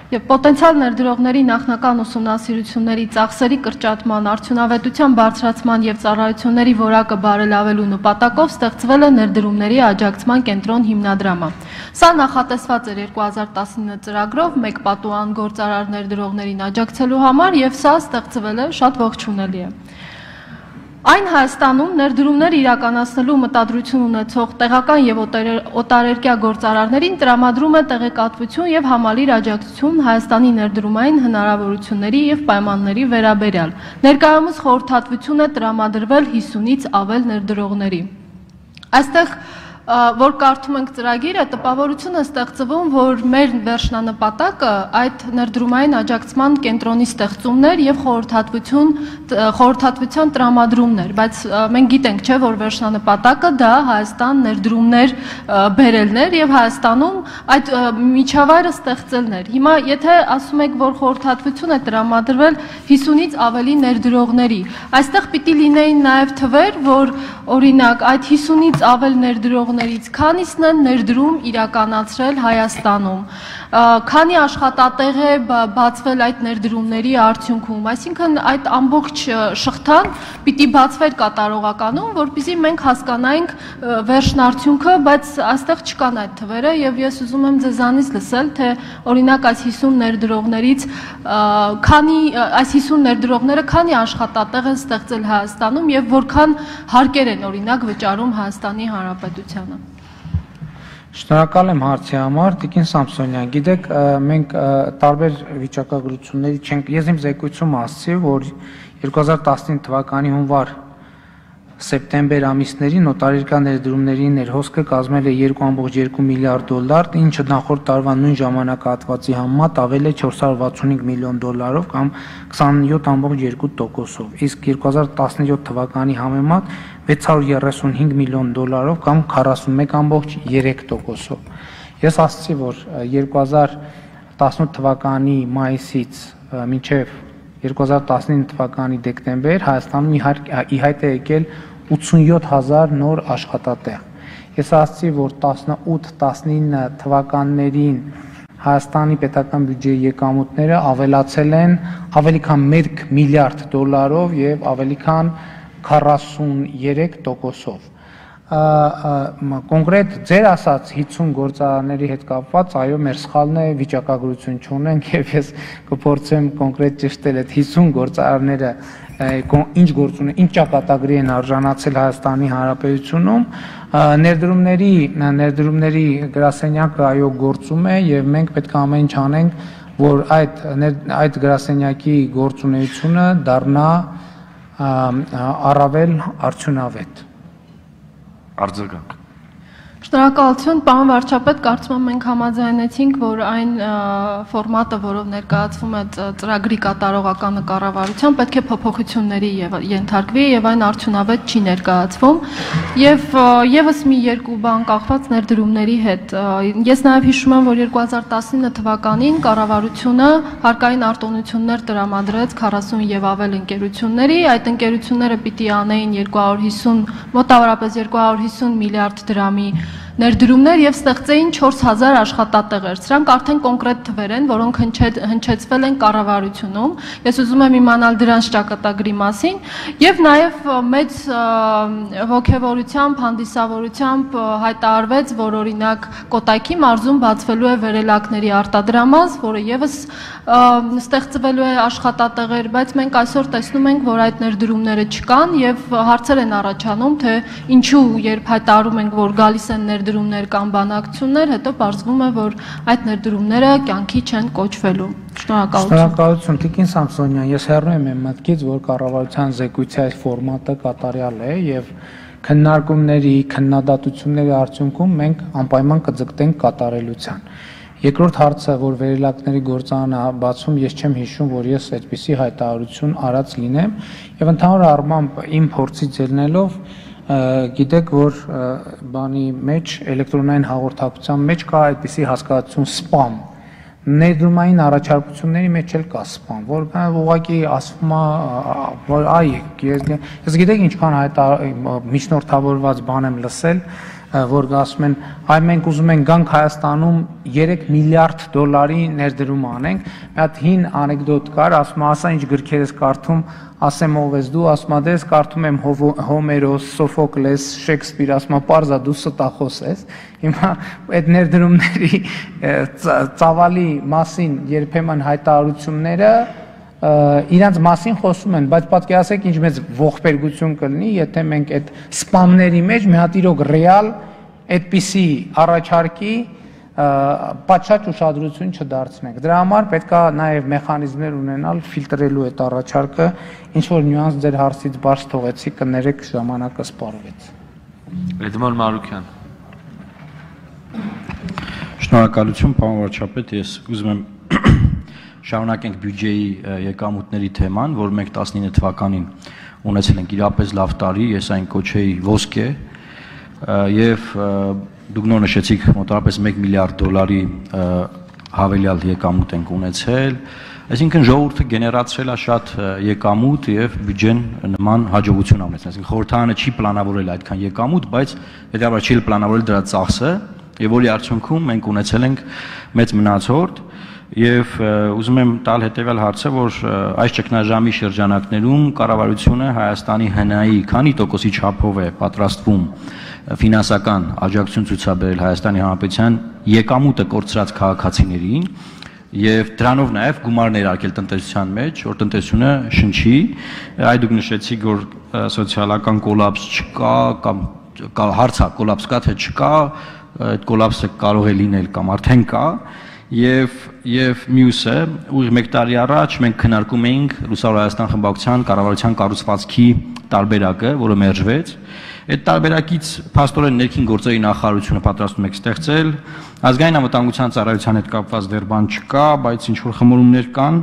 Եվ պոտենցիալ ներդրողների նախնական ուսումնասիրությունների ծախսերի կրճատման, արդյունավետության բարձրացման եւ ծառայությունների որակը բարելավելու նպատակով ստեղծվել է ներդրումների աջակցման կենտրոն հիմնադրամը։ Սա նախատեսված էր երկու հազար տասնինը ծրագրով մեկ պատուհան գործարար ներդրողներին աջակցելու համար եւ սա ստեղծվել է շատ ողջունելի է։ Այն Հայաստանում ներդրումներ իրականացնելու մտադրություն ունեցող տեղական եւ օտարերկրյա գործարարներին տրամադրում է տեղեկատվություն եւ համալիր աջակցություն Հայաստանի ներդրումային հնարավորությունների եւ պայմանների վերաբերյալ։ Ներկայումս խորհրդատվություն է տրամադրվել հիսունից ավել ներդրողների։ Այստեղ որ կարդում ենք ծրագիրը, տպավորություն է ստեղծվում, որ մեր վերջնանպատակը այդ ներդրումային աջակցման կենտրոնի ստեղծումներ եւ խորհրդատվություն խորհրդատվության տրամադրումներ, բայց մենք գիտենք, չէ, որ վերջնանպատակը դա Հայաստան ներդրումներ բերելն էր եւ Հայաստանում այդ միջավայրը ստեղծելն էր։ Հիմա եթե ասում եք, որ խորհրդատվություն է տրամադրվել հիսունից ավելի ներդրողների, այստեղ պիտի լինեին նաեւ թվեր, որ օրինակ այդ հիսունից ավել ներդրողներից քանիսն են ներդրում իրականացրել Հայաստանում, քանի աշխատատեղ է բացվել այդ ներդրումների արդյունքում, այսինքն այդ ամբողջ շղթան պիտի բացվեր կատարողականում, որպեսզի մենք հասկանայինք վերջնարդյունքը, բայց այստեղ չկան այդ թվերը եւ ես ուզում եմ ձեզանից լսել, թե օրինակ այս հիսուն ներդրողներից քանի այս հիսուն ներդրողները քանի աշխատատեղ են ստեղծել Հայաստանում եւ որքան հարկեր են օրինակ վճարում Հայաստանի Հանրապետությանը։ Շնորհակալ եմ հարցի համար, Տիկին Սամսոնյան, գիտեք, մենք տարբեր վիճակագրությունների չենք, ես իմ զեկույցում ասացի, որ երկու հազար տասնինը թվականի հունվար սեպտեմբեր ամիսների նոտարիական ներդրումների ներհոսքը կազմել է երկու կόμք երկու միլիարդ դոլար, ինչը նախորդ տարվա նույն ժամանակահատվածի համեմատ ավել է չորս հարյուր վաթսունհինգ միլիոն դոլարով կամ քսանյոթ կόμք երկու տոկոսով, իսկ երկու հազար տասնյոթ թվականի համեմատ վեց հարյուր երեսունհինգ միլիոն դոլարով կամ քառասունմեկ կόμք երեք տոկոսով։ Ես ասացի, որ երկու հազար տասնութ թվականի մայիսից մինչև երկու հազար տասնինը թվականի դեկտեմբեր Հայաստանում ի հայտ է եկել ութսունյոթ հազար նոր աշխատատեղ։ Ես ասացի, որ տասնութ տասնինը թվականներին Հայաստանի պետական բյուջեի եկամուտները ավելացել են ավելի քան մեկ միլիարդ դոլարով եւ ավելի քան քառասուներեք տոկոսով։ Կոնկրետ ձեր ասած հիսուն գործարանների հետ կապված, այո, մեր սխալն է, վիճակագրություն չունենք եւ ես կփորձեմ կոնկրետ ճշտել այդ հիսուն գործարանները ինչ գործ ունեն, ինչ ճակատագրի են արժանացել Հայաստանի Հանրապետությունում, ներդրումների ներդրումների գրասենյակը այո գործում է եւ մենք պետք է ամեն ինչ անենք, որ այդ այդ գրասենյակի գործունեությունը դառնա առավել արդյունավետ։ Արձագանք։ Շնորհակալություն, պարոն վարչապետ, կարծում եմ մենք համաձայնեցինք, որ այն ֆորմատը, որով ներկայացվում է ծրագրի կատարողականը կառավարության, պետք է փոփոխությունների ենթարկվի եւ այն արդյունավետ չի ներկայացվում եւ եւս մի երկու բան կախված ներդրումների հետ։ Ես նաեւ հիշում եմ, որ երկու հազար տասնինը թվականին կառավարությունը հարկային արտոնություններ տրամադրեց քառասուն եւ ավել ընկերությունների, այդ ընկերությունները պիտի անեին երկու հարյուր հիսուն մոտավորապես երկու հարյուր հիսուն միլիարդ դրամի ներդրումներ եւ ստեղծեին չորս հազար աշխատատեղեր։ Սրանք արդեն կոնկրետ թվեր են, որոնք հնչեցվել են կառավարությունում։ Ես ուզում եմ իմանալ դրանց ճակատագրի մասին եւ նաեւ մեծ ողջավորությամբ, հանդիսավորությամբ հայտարարվեց, որ օրինակ Կոտայքի մարզում բացվելու է վերելակների արտադրամաս, որը եւս ստեղծվելու է աշխատատեղեր, բայց մենք այսօր տեսնում ենք, որ այդ ներդրումները չկան եւ հարցեր են առաջանում, թե ինչու երբ հայտարարում ենք, որ գալիս են ներդրումներ կամ բանակցություններ, հետո պարզվում է, որ այդ ներդրումները կյանքի չեն կոչվելու։ Շնորհակալություն։ Շնորհակալություն, Տիկին Սամսոնյան, ես հեռու եմ իմ մտքից, որ կառավարության զեկույցի այս ֆորմատը կատարյալ է եւ քննարկումների, քննադատությունների արդյունքում մենք անպայման կձգտենք կատարելության։ Երկրորդ հարցը, որ վերելակների գործարանը բացում, ես չեմ հիշում, որ ես այդպիսի հայտարարություն արած լինեմ եւ ընդհանուր առմամբ իմ փորձից ելնելով գիտեք, որ բանի մեջ էլեկտրոնային հաղորդակցության մեջ կա այդպիսի հասկացություն սպամ։ Ներդրումային առաջարկությունների մեջ էլ կա սպամ, որ ուղղակի ասվում է, որ այ ես գիտեք ինչքան միջնորդավորված բան եմ լսել, որ ասում են, այ մենք ուզում ենք գանք Հայաստանում երեք միլիարդ դոլարի ներդրում անենք։ Մի հատ հին անեկդոտ կար, ասում է, ասա ինչ գրքեր ես կարդում, ասեմ ով ես դու, ասում է, դե ես կարդում եմ Հոմերոս, Սոֆոկլես, Շեքսպիր, ասում է, պարզա դու ստախոս ես։ Հիմա այդ ներդրումների ծավալի մասին երբեմն հայտարարությունները իրանց մասին խոսում են, բայց պատկերացեք ինչ մեծ ողբերգություն կլինի, եթե մենք այդ սպամների մեջ մի հատ իրոք ռեալ այդպիսի առաջարկի պատշաճ ուշադրություն չդարձնենք։ Դրա համար պետք է նաև մեխանիզմներ ունենալ ֆիլտրելու այդ առաջարկը, ինչ որ նյուանս ձեր հարցից բարձ թողեցի, կներեք ժամանակը սպառվեց։ Էդմոն Մարուկյան։ Շնորհակալություն, պարոն վարչապետ, ես ուզում եմ շարունակենք բյուջեի եկամուտների թեման, որ մենք տասնինը թվականին ունեցել ենք իրապես լավ տարի, ես այն կոչեի ոսկե, եւ դուք նոր նշեցիք մոտավորապես մեկ միլիարդ դոլարի հավելյալ եկամուտ ենք ունեցել, այսինքն ժողովուրդը գեներացրել է շատ եկամուտ եւ բյուջեն նման հաջողություն ունեցել, այսինքն խորհրդարանը չի պլանավորել այդքան եկամուտ, բայց հետեւաբար չի պլանավորել դրա ծախսը, եւ որի արդյունքում մենք ունեցել ենք մեծ մնացորդ եւ ուզում եմ տալ հետեւյալ հարցը, որ այս ճգնաժամի շրջանակներում կառավարությունը Հայաստանի հնայի քանի տոկոսի չափով է պատրաստվում ֆինանսական աջակցություն ցուցաբերել Հայաստանի Հանրապետության եկամուտը կորցրած քաղաքացիներին եւ դրանով նաեւ գումար ներարկել տնտեսության մեջ, որ տնտեսությունը շնչի, այ դուք նշեցիք, որ սոցիալական կոլապս չկա կամ հարցա կոլապս կա թե չկա, այդ կոլապսը կարող է լինել կամ արդեն կա եւ եւ մյուսը ուղիղ մեկ տարի առաջ մենք քննարկում էինք Լուսավոր Հայաստան խմբակցության կառավարության կառուցվածքի տարբերակը, որը մերժվեց։ Այդ տարբերակից փաստորեն ներքին գործերի նախարարությունը պատրաստում է ստեղծել, ազգային անվտանգության ծառայության հետ կապված դեռ բան չկա, բայց ինչ որ խմորումներ կան,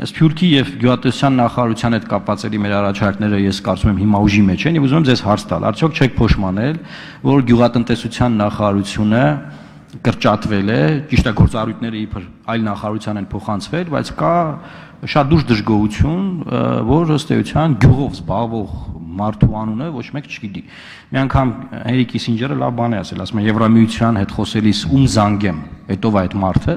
Սփյուռքի եւ գյուղատնտեսության նախարարության հետ կապված էլի մեր առաջարկները ես կարծում եմ հիմա ուժի մեջ են եւ ուզում եմ ձեզ հարց տալ, արդյոք չեք փոշմանել, որ գյուղատնտեսության նախարարությունը կրճատվել է, ճիշտ է գործառույթները իբր այլ նախարարության են փոխանցվել, բայց կա շատ դուրս դժգոհություն, որ ըստ էության գյուղով զբաղվող մարդու անունը ոչ մեկ չգիտի։ Մի անգամ Հենրի Կիսինջերը լավ բան է ասել, ասում է Եվրամիության հետ խոսելիս ում զանգեմ, հետո այդ մարդը,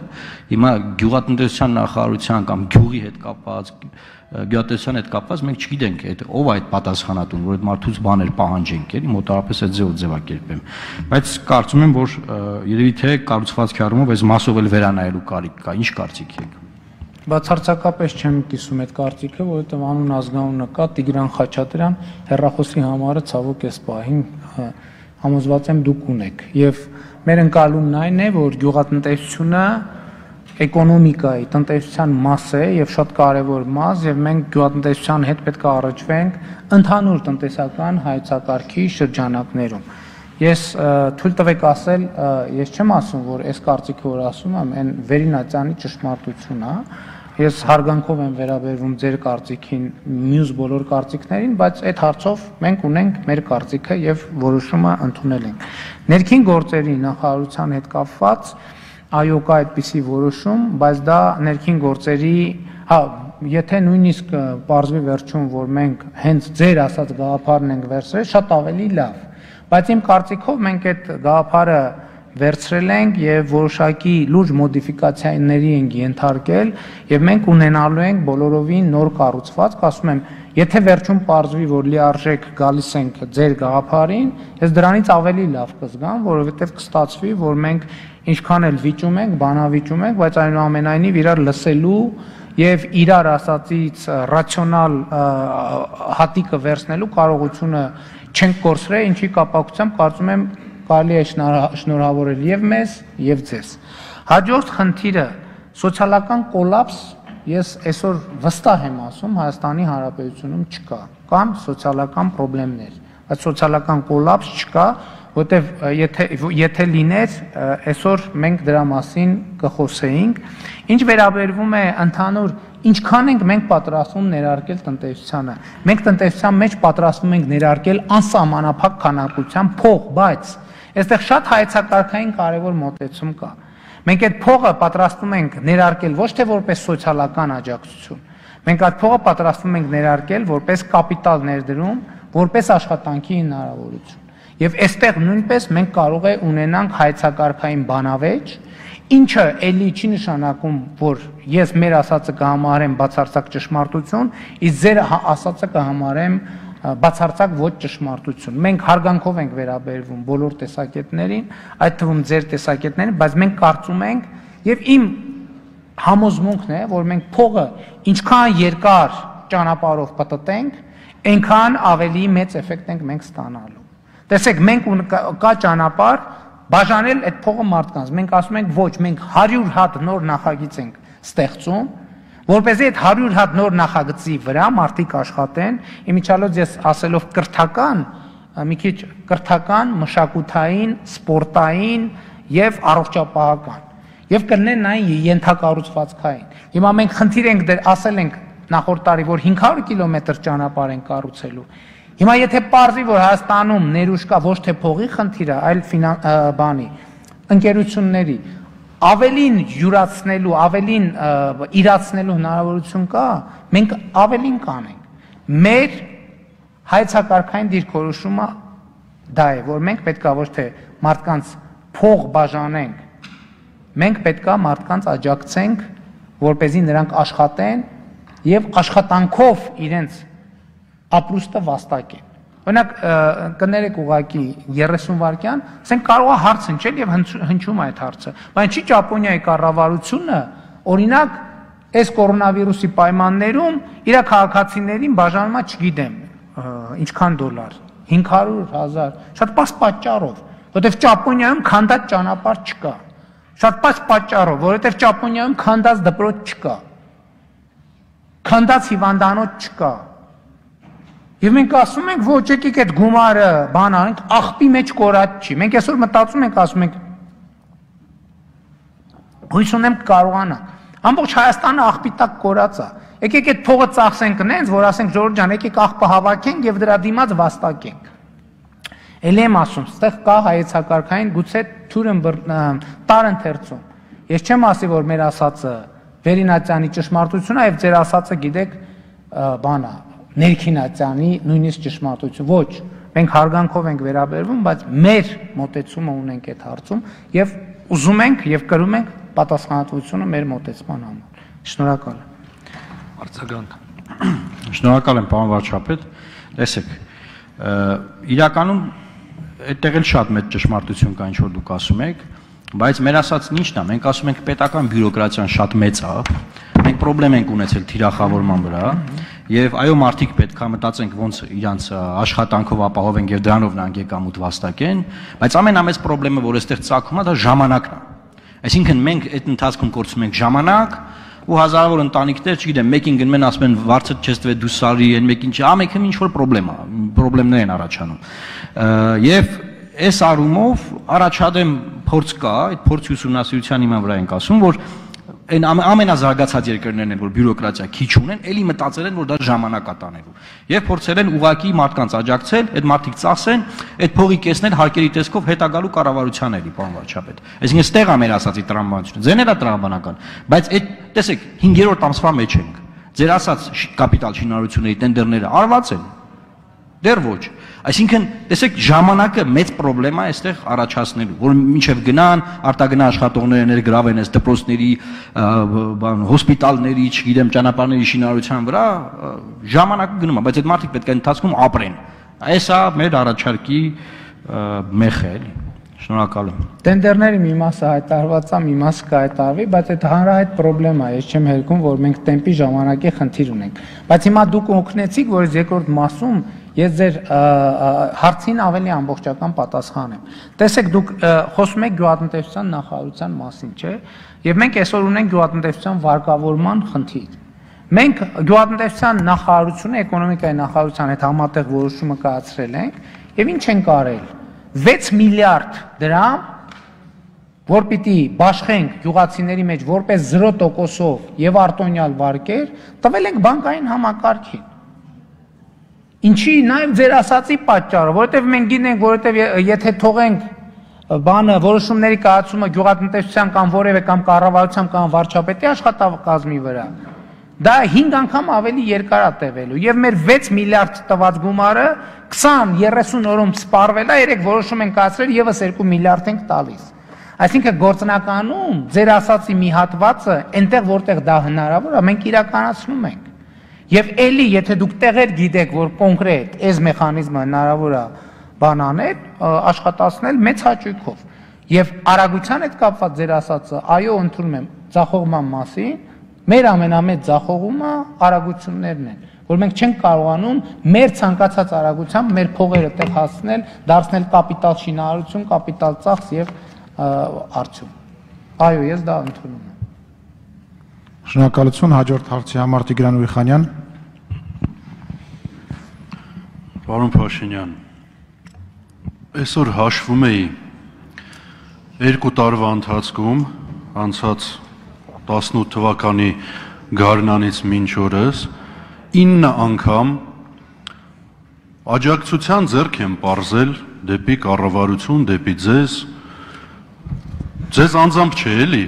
հիմա գյուղատնտեսության նախարարության կամ գյուղի հետ կապված, գյուղատնտեսության հետ կապված մենք չգիտենք այդ ով է այդ պատասխանատուն, որ այդ մարդուց բաներ պահանջենք, էլի մոտավորապես այդ ձեւով ձևակերպեմ։ Բայց կարծում եմ, որ երևի թե կառուցվածքի առումով այս մասով էլ վերանայելու կարիք կա, ինչ կարծիք եք։ Բացարձակապես չեմ կիսում այդ կարծիքը, որովհետև անուն ազգանունը կա Տիգրան Խաչատրյան, հեռախոսի համարը ցավոք էս պահին համոզված եմ դուք ունեք։ Եվ մեր ընկալումն այն է, որ գյուղատնտեսությունը էկոնոմիկայի, տնտեսության մաս է եւ շատ կարեւոր մաս, եւ մենք գյուղատնտեսության հետ պետք է առաջվենք ընդհանուր տնտեսական հայեցակարգի շրջանակներում։ Ես թույլ տվեք ասել, ես չեմ ասում, որ այս կարծիքը, որ ասում եմ, այն վերինացյանի ճշմարտություն է։ Ես հարգանքով եմ վերաբերվում ձեր կարծիքին, մյուս բոլոր կարծիքներին, բայց այդ հարցով մենք ունենք մեր կարծիքը եւ որոշումը ընդունել ենք։ Ներքին գործերի նախարարության հետ կապված այո կա այդպիսի որոշում, բայց դա ներքին գործերի, հա, եթե նույնիսկ պարզվի վերջում, որ մենք հենց ձեր ասած գաղափարն ենք վերցրել, շատ ավելի լավ։ Բայց իմ կարծիքով մենք այդ գաղափարը վերցրել ենք եւ որոշակի լուրջ մոդիֆիկացիաների ենք ենթարկել եւ մենք ունենալու ենք բոլորովին նոր կառուցվածք, ասում եմ, եթե վերջում պարզվի, որ լիարժեք գալիս ենք ձեր գաղափարին, ես դրանից ավելի լավ կզգամ, որովհետեւ կստացվի, որ մենք ինչքան էլ վիճում ենք, բանավիճում ենք, բայց այնուամենայնիվ իրար լսելու եւ իրար ասածից ռացիոնալ հատիկը վերցնելու կարողությունը չենք կորցրել, ինչի կապակցությամբ կարծում եմ կարելի է շնորհավորել եւ մեզ եւ ձեզ։ Հաջորդ խնդիրը սոցիալական կոլապս, ես այսօր վստահ եմ ասում, Հայաստանի Հանրապետությունում չկա, կան սոցիալական խնդիրներ, բայց սոցիալական կոլապս չկա, որտեվ եթե եթե լիներ, այսօր մենք դրա մասին կխոսեինք։ Ինչ վերաբերվում է ընդհանուր ինչքան ենք մենք պատրաստվում ներարկել տնտեսությանը։ Մենք տնտեսության մեջ պատրաստվում ենք ներարկել անսահմանափակ քանակությամբ փող, բայց այստեղ շատ հայեցակարգային կարևոր մոտեցում կա։ Մենք այդ փողը պատրաստվում ենք ներարկել ոչ թե որպես սոցիալական աջակցություն, մենք այդ փողը պատրաստվում ենք ներարկել որպես կապիտալ ներդրում, որպես աշխատանքի հնարավորություն։ Եվ այստեղ նույնպես մենք կարող է ունենանք հայեցակարգային բանավեճ, ինչը էլի չի նշանակում, որ ես մեր ասածը կհամարեմ բացարձակ ճշմարտություն, իսկ ձեր ասածը կհամարեմ բացարձակ ոչ ճշմարտություն։ Մենք հարգանքով ենք վերաբերվում բոլոր տեսակետներին, այդ թվում ձեր տեսակետներին, բայց մենք կարծում ենք եւ իմ համոզմունքն է, որ մենք փողը ինչքան երկար ճանապարհով պատտենք, այնքան ավելի մեծ էֆեկտ ենք մենք ստանալու։ Տեսեք, մենք կա ճանապարհ բաժանել այդ փողը մարդկանց։ Մենք ասում ենք ոչ, մենք հարյուր հատ նոր նախագիծ ենք ստեղծում, որպեսզի այդ հարյուր հատ նոր նախագծի վրա մարդիկ աշխատեն, իմիջիալոց ես ասելով կրթական, մի քիչ կրթական, մշակութային, սպորտային եւ առողջապահական եւ կլինեն նաեւ ենթակառուցվածքային։ Հիմա մենք խնդիր ենք դեր ասել ենք նախորդ տարի, որ հինգ հարյուր կիլոմետր ճանապարհ են կառուցելու։ Հիմա եթե պարզի, որ Հայաստանում ներուժ կա ոչ թե փողի խնդիրը, այլ բանի, ընկերությունների ավելին յուրացնելու, ավելին իրացնելու հնարավորություն կա, մենք ավելին կանենք։ Մեր հայեցակարգային դիրքորոշումը դա է, որ մենք պետքա ոչ թե մարդկանց փող բաժանենք, մենք պետքա մարդկանց աջակցենք, որպեսզի նրանք աշխատեն եւ աշխատանքով իրենց ապրուստը վաստակեն։ Օրինակ կներեք ուղակի երեսուն վայրկյան, ասենք կարող է հարց հնչել եւ հնչում է այդ հարցը, բայց չի Ճապոնիայի կառավարությունը օրինակ այս կորոնավիրուսի պայմաններում իր քաղաքացիներին բաժանում է, չգիտեմ, ինչքան դոլար, հինգ հարյուր հազար, շատ պարզ պատճառով, որովհետեւ Ճապոնիայում քանդած ճանապարհ չկա։ Շատ պարզ պատճառով, որովհետեւ Ճապոնիայում քանդած դպրոց չկա։ Քանդած հիվանդանոց չկա։ Եվ մենք ասում ենք, ոչ եկեք այդ գումարը բան անենք, աղբի մեջ կորած չի։ Մենք այսօր մտածում ենք, ասում ենք, հույս ունեմ կարողանա։ Ամբողջ Հայաստանը աղբի տակ կորած է։ Եկեք այդ փողը ծախսենք նենց, որ ասենք Ժորժ ջան, եկեք աղբը հավաքենք եւ դրա դիմաց վաստակենք։ Էլ եմ ասում, ստեղ կա հայեցակարգային գուցե թուրն տար ընթերցում։ Ես չեմ ասի, որ մեր ասածը Վերինացյանի ճշմարտությունն է եւ ձեր ասածը գիտեք բանա Ներքինացյանի նույնիսկ ճշմարտություն։ Ոչ, մենք հարգանքով ենք վերաբերվում, բայց մեր մոտեցումը ունենք այդ հարցում եւ ուզում ենք եւ կրում ենք պատասխանատվությունը մեր մոտեցման համար։ Շնորհակալ եմ։ Արձագանք։ Շնորհակալ եմ, պարոն վարչապետ։ Տեսեք, իրականում այդտեղ էլ շատ մեծ ճշմարտություն կա, ինչ որ դուք ասում եք, բայց մեր ասածն ինչն է, մենք ասում ենք պետական բյուրոկրատիան շատ մեծ է, մենք խնդրեմ ենք ունեցել թիրախավորման վրա, եւ այո մարդիկ պետք է մտածենք ոնց իրանց աշխատանքով ապահովեն եւ դրանով նրանք եկամուտ վաստակեն, բայց ամենամեծ խնդրեմը, որ այստեղ ծագում է, դա ժամանակն է։ Այսինքն մենք այդ ընթացքում կորցնում ենք ժամանակ ու հազարավոր ընտանիքներ, չգիտեմ, մեկին գնում են ասում են վարձը չես տվել դու սարի, այն մեկին չի, ամենքին ինչ որ խնդրեմ է, խնդիրներ են առաջանում։ Եվ այս առումով առաջադեմ փորձ կա, այդ փորձի ուսումնասիրության հիման վրա ենք ասում, որ այն ամենազարգացած երկրներն են, որ բյուրոկրատիա քիչ ունեն, էլի մտածել են, որ դա ժամանակ է տանելու։ Եվ փորձել են ուղակի մարդկանց աջակցել, այդ մարդիկ ծախսեն, այդ փողի կեսնել հարկերի տեսքով հետագալու կառավարության էլի, պարոն վարչապետ։ Այսինքն ստեղ է մեր ասածի տրամաբանությունը, ձեն էլ է տրամաբանական, բայց այդ տեսեք, հինգերորդ ամսվա մեջ ենք։ Ձեր ասած կապիտալ շինարարությունների տենդերները արված են։ Դեռ ոչ։ Այսինքն, տեսեք, ժամանակը մեծ խնդրեմ է այստեղ առաջացնելու, որ մինչև գնան, արտագնա աշխատողները ներգրավեն այս դպրոցների, բան, հոսպիտալների, չգիտեմ, ճանապարհների շինարարության վրա, ժամանակը գնում է, բայց այդ մարդիկ պետք է ընթացքում ապրեն։ Այս է մեր առաջարկի մեխը, էլի։ Շնորհակալ եմ։ Տենդերների մի մասը հայտարարված է, մի մասը կհայտարարվի, բայց այդ հանրահայտ խնդրեմ է, ես չեմ հերքում, որ մենք տեմպի ժամանակի խնդիր ունենք։ Բայց հիմա դուք օգնեցիք, որ այս երկրորդ մասում ես ձեր հարցին ավելի ամբողջական պատասխան եմ։ Տեսեք, դուք խոսում եք գյուղատնտեսության նախարարության մասին, չէ՞։ Եվ մենք այսօր ունենք գյուղատնտեսության վարկավորման խնդիր։ Մենք գյուղատնտեսության նախարարությունը, էկոնոմիկայի նախարարության հետ համատեղ որոշումը կայացրել ենք, եւ ինչ ենք արել։ վեց միլիարդ դրամ, որ պիտի բաշխենք գյուղացիների մեջ որպես զրո տոկոսով եւ արտոնյալ վարկեր, տվել ենք բանկային համակարգին։ Ինչի նաև ձեր ասացի պատճառը, որովհետև մենք գիտենք, որովհետև եթե թողենք բանը որոշումների կայացումը գյուղատնտեսության կամ որևէ կամ կառավարության կամ վարչապետի աշխատակազմի վրա, դա հինգ անգամ ավելի երկար է տևելու եւ մեր վեց միլիարդ տված գումարը քսան երեսուն օրում սպառվել է, երեք որոշում են կայացրել եւս երկու միլիարդ ենք տալիս։ Այսինքն գործնականում ձեր ասացի մի հատվածը այնտեղ որտեղ դա հնարավոր է, մենք իրականացնում ենք։ Եվ էլի, եթե դուք տեղեր գիտեք, որ կոնկրետ այս մեխանիզմը հնարավոր է բան անել, աշխատացնել մեծ հաճույքով։ Եվ արագության հետ կապված ձեր ասածը, այո, ընդունում եմ ձախողման մասին, մեր ամենամեծ ձախողումը արագություններն են, որ մենք չենք կարողանում մեր ցանկացած արագությամբ մեր փողերը տեղ հասցնել, դարձնել կապիտալ շինարարություն, կապիտալ ծախս եւ արդյունք։ Այո, ես դա ընդունում եմ։ Շնորհակալություն, հաջորդ հարցի համար Տիգրան Ուրիխանյան։ Պարոն Փաշինյան, այսօր հաշվում էի երկու տարվա ընթացքում անցած տասնութ թվականի գարնանից մինչ օրս ինը անգամ աջակցության ձեռք եմ պարզել դեպի կառավարություն, դեպի ձեզ, ձեզ անձամբ չէ էլի,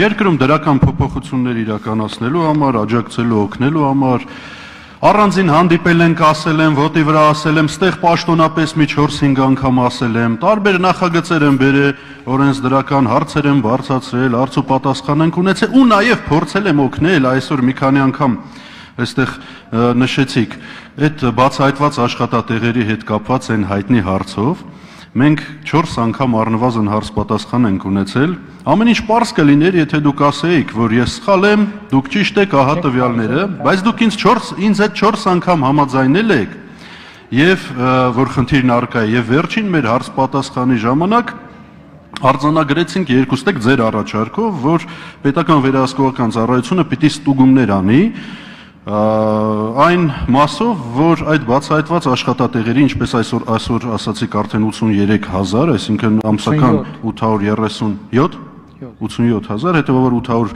երկրում դրական փոփոխություններ իրականացնելու համար, աջակցելու, օգնելու համար, առանձին հանդիպել ենք, ասել եմ, ոտի վրա ասել եմ, ստեղ պաշտոնապես մի չորս-հինգ անգամ ասել եմ, տարբեր նախագծեր եմ բերել, օրենսդրական հարցեր եմ բարձրացրել, հարց ու պատասխան ենք ունեցել ու նաև փորձել եմ օգնել, այսօր մի քանի անգամ այստեղ նշեցիք, այդ բացահայտված աշխատատեղերի հետ կապված այն հայտնի հարցով, մենք չորս անգամ առնվազն հարց պատասխան ենք ունեցել, ամեն ինչ պարզ կլիներ, եթե դուք ասեիք, որ ես սխալ եմ, դուք ճիշտ եք, ահա տվյալները, բայց դուք ինձ ինձ այդ չորս անգամ համաձայնել եք, եւ որ խնդիրն առկա է, եւ վերջին մեր հարց պատասխանի ժամանակ արձանագրեցինք երկուստեք ձեր առաջարկով, որ պետական վերահսկողական ծառայությունը պիտի ստուգումներ անի այն մասով, որ այդ բացահայտված աշխատատեղերի, ինչպես այսօր այսօր ասացիք արդեն ութսունուերեք հազար, այսինքն ամսական ութ հարյուր երեսունյոթ ութսունյոթ հազար, հետևաբար ութ հարյուր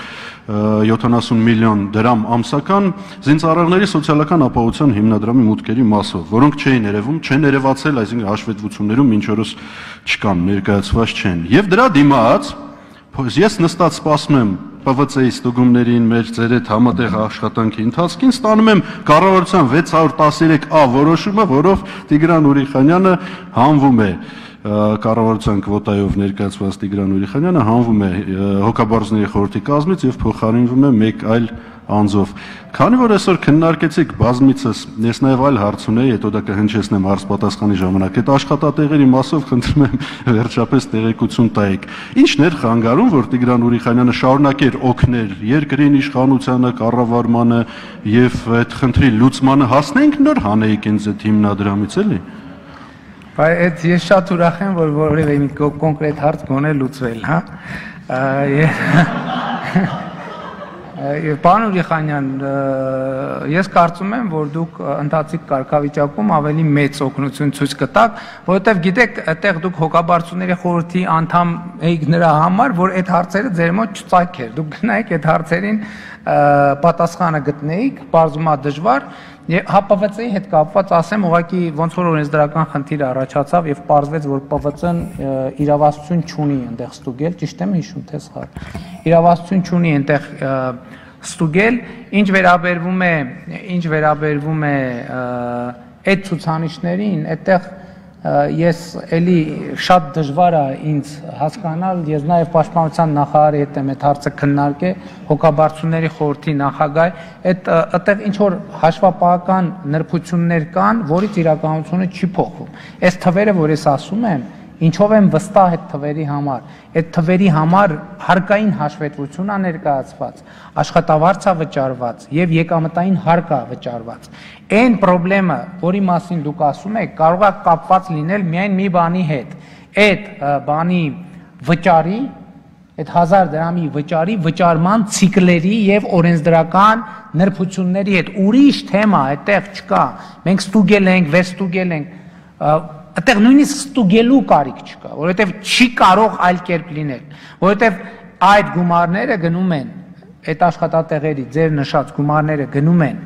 յոթանասուն միլիոն դրամ ամսական զինծառայողների սոցիալական ապահովության հիմնադրամի մուտքերի մասով, որոնք չէին երևում, չեն երևացել, այսինքն հաշվետվություններում մինչ օրս չկան, ներկայացված չեն։ Եվ դրա դիմաց ես նստած սպասում եմ Պ V C-ի ստուգումներին մեր ձեր հետ համատեղ աշխատանքի ընթացքին ստանում եմ կառավարության վեց հարյուր տասներեք A որոշումը, որով Տիգրան Ուրիխանյանը հանվում է կառավարության կվոտայով ներկայացված Տիգրան Ուրիխանյանը հանվում է հոգաբարձուների խորհրդի կազմից եւ փոխարինվում է մեկ այլ անձով։ Քանի որ այսօր քննարկեցիք բազմիցս, ես նաև այլ հարց ունեի, հետո դա կհնչեցնեմ հարց պատասխանի ժամանակ։ Այդ աշխատատեղերի մասով խնդրում եմ վերջապես տեղեկություն տայեք։ Ինչն էր խանգարում, որ Տիգրան Ուրիխանյանը շարունակեր օգնել երկրին, իշխանությանը, կառավարմանը եւ այդ խնդրի լուծմանը հասնենք նոր հանեիք ինձ այդ հիմնադրամից էլի։ Բայց այդ ես շատ ուրախ եմ, որ որևէ մի կոնկրետ հարց գոնե լուծվել, հա։ Պարոն Ուրիխանյան, ես կարծում եմ, որ դուք ընթացիկ կարգավիճակում ավելի մեծ օգնություն ցույց կտաք, որովհետև գիտեք, այդտեղ դուք հոգաբարձուների խորհրդի անդամ եք նրա համար, որ այդ հարցերը ձեր մոտ չծագեր։ Դուք գնայիք այդ հարցերին պատասխանը գտնեիք, բարձումա դժվար, եւ Հ П V C-ի հետ կապված ասեմ, ուղղակի ոնց որ օրենսդրական խնդիր առաջացավ եւ պարզվեց, որ П V C-ն իրավասություն չունի այնտեղ ստուգել, ճիշտ եմ հիշում, թե սխալ։ Իրավասություն չունի այնտեղ ստուգել, ինչ վերաբերվում է, ինչ վերաբերվում է այդ ցուցանիշներին, այդտեղ ես էլի շատ դժվար է ինձ հասկանալ, ես նաև պաշտպանության նախարարի հետ եմ այդ հարցը քննարկել, հոգաբարձուների խորհրդի նախագահ, այդ այդտեղ ինչ որ հաշվապահական նրբություններ կան, որից իրականությունը չի փոխվում։ Այս թվերը, որ ես ասում եմ, ինչով եմ վստահ այդ թվերի համար, այդ թվերի համար հարկային հաշվետվություն է ներկայացված, աշխատավարձ է վճարված եւ եկամտային հարկ է վճարված։ Այն խնդրեմը, որի մասին դուք ասում եք, կարող է կապված լինել միայն մի բանի հետ։ Այդ բանի վճարի, այդ հազար դրամի վճարի վճարման ցիկլերի եւ օրենսդրական նրբությունների հետ ուրիշ թեմա այդտեղ չկա։ Մենք ստուգել ենք, վերստուգել ենք, այդտեղ նույնիսկ ստուգելու կարիք չկա, որովհետև չի կարող այլ կերպ լինել, որովհետև այդ գումարները գնում են, այդ աշխատատեղերի ձեր նշած գումարները գնում են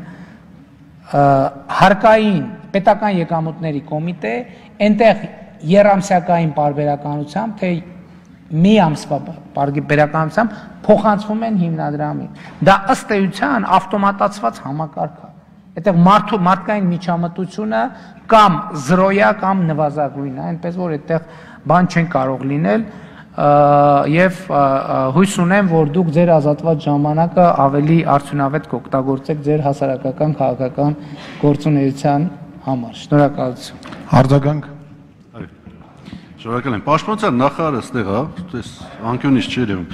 հարկային պետական եկամուտների կոմիտե, այնտեղ երամսյակային պարբերականությամբ, թե մի ամսվա պարբերականությամբ փոխանցվում են հիմնադրամին։ Դա ըստ էության ավտոմատացված համակարգ է։ Այդտեղ մարդկային միջամտությունը կամ զրոյա կամ նվազագույն է, այնպես որ այդտեղ բան չեն կարող լինել եւ հույս ունեմ, որ դուք ձեր ազատված ժամանակը ավելի արդյունավետ կօգտագործեք ձեր հասարակական քաղաքական գործունեության համար։ Շնորհակալություն։ Արձագանք։ Շնորհակալ եմ։ Պաշտպանության նախարարը ստեղ է, այս անկյունից չի երևում։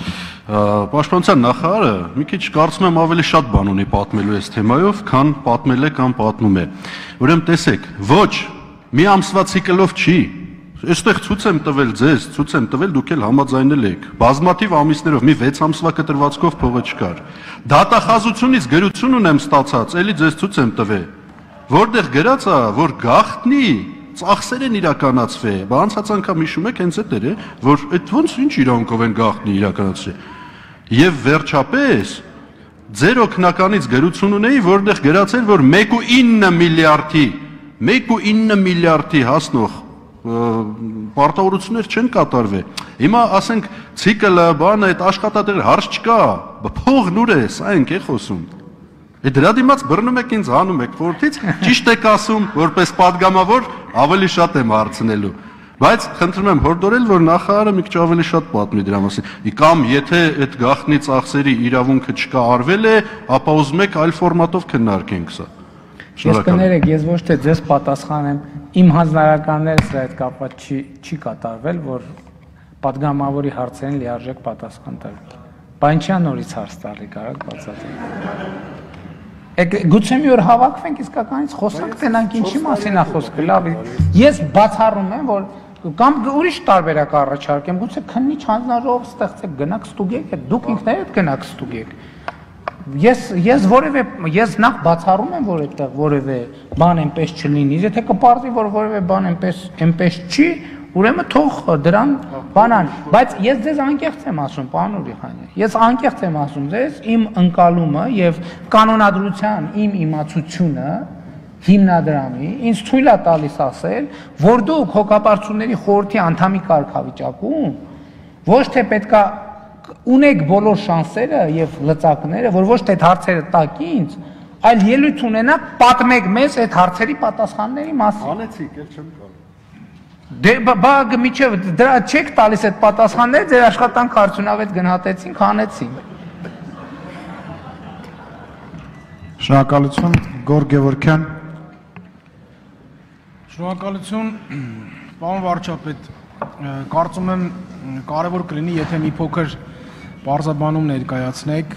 Պաշտպանության նախարարը մի քիչ կարծում եմ ավելի շատ բան ունի պատմելու այս թեմայով, քան պատմել է կամ պատմում է։ Ուրեմն տեսեք, ոչ, մի ամսվա ցիկլով չի։ Այստեղ ցույց եմ տվել ձեզ, ցույց եմ տվել, դուք էլ համաձայնել եք։ Բազմաթիվ ամիսներով մի վեց ամսվա կտրվածքով փողը չկար։ Դատախազությունից գրություն ունեմ ստացած, էլի ձեզ ցույց եմ տվել։ Որտեղ գրած է, որ գաղտնի ծախսեր են իրականացվել։ Բա անցած անգամ հիշում եք հենց այդ էր, որ այդ ոնց ինչ իրանքով են գաղտնի իրականացրել։ Եվ վերջապես ձեր օգնականից գրություն ունեի, որտեղ գրացել, որ մեկ կόμμα ինը միլիարդի, մեկ կόμma ինը միլիարդի հասնող պարտավորություններ չեն կատարվել։ Հիմա ասենք ցիկլը, բանը, այդ աշխատատեղը հարց չկա, փողն ուր է, սա ենք է խոսում։ Է դրա դիմաց բռնում եք ինձ հանում եք խորթից, ճիշտ եք ասում, որպես падգամավոր ավելի շատ եմ հարցնելու։ Բայց խնդրում եմ հորդորել, որ նախարարը մի քիչ ավելի շատ պատմի դրա մասին։ Կամ եթե այդ գաղտնի ծախսերի իրավունքը չկա արվել է, ապա ուզում եք այլ ֆորմատով քննարկենք սա։ Ես կներեք, ես ոչ թե ձեզ պատասխանեմ, իմ հանձնարարականներս այդ կապված չի չի կատարվել, որ падգամավորի հարցերին լիարժեք պատասխան տալու։ Բանչյան նորից հարց տալի կարակ բացատրի։ Գուցե մի օր հավաքվենք իսկականից խոսանք, տենանք ինչի մասին է խոսքը, լավ։ Ես բացառում եմ, որ կամ ուրիշ տարբերակ առաջարկեմ, գուցե քննիչ հանձնարարով ստեղծեք, գնաք ստուգեք, դուք ինքներդ գնաք ստուգեք։ Ես ես որևէ ես նախ բացառում եմ, որ այդտեղ որևէ բան այնպես չլինի, եթե կպարզի, որ որևէ բան այնպես այնպես չի, ուրեմն թող դրան բանան, բայց ես ձեզ անկեղծ եմ ասում, պարոն Ուրիխանյան, ես անկեղծ եմ ասում ձեզ, իմ ընկալումը եւ կանոնադրության իմ իմացությունը հիմնադրամի ինձ թույլ է տալիս ասել, որ դուք հոգապարծությունների խորհրդի անդամի կարգավիճակում ոչ թե պետքա ունեք բոլոր շանսերը եւ լծակները, որ ոչ թե այդ հարցերը տակ ինձ, այլ ելույթ ունենաք պատմեք մեզ այդ հարցերի պատասխանների մասին։ Անեցիք, էլ չեմ կարող։ Դե բա միջև դրա չեք տալիս այդ պատասխանները, ձեր աշխատանքը արդյունավետ գնահատեցինք, հանեցինք։ Շնորհակալություն, Գորգ Գևորգյան։ Շնորհակալություն, պարոն վարչապետ, կարծում եմ կարևոր կլինի, եթե մի փոքր բարձաբանում ներկայացնեք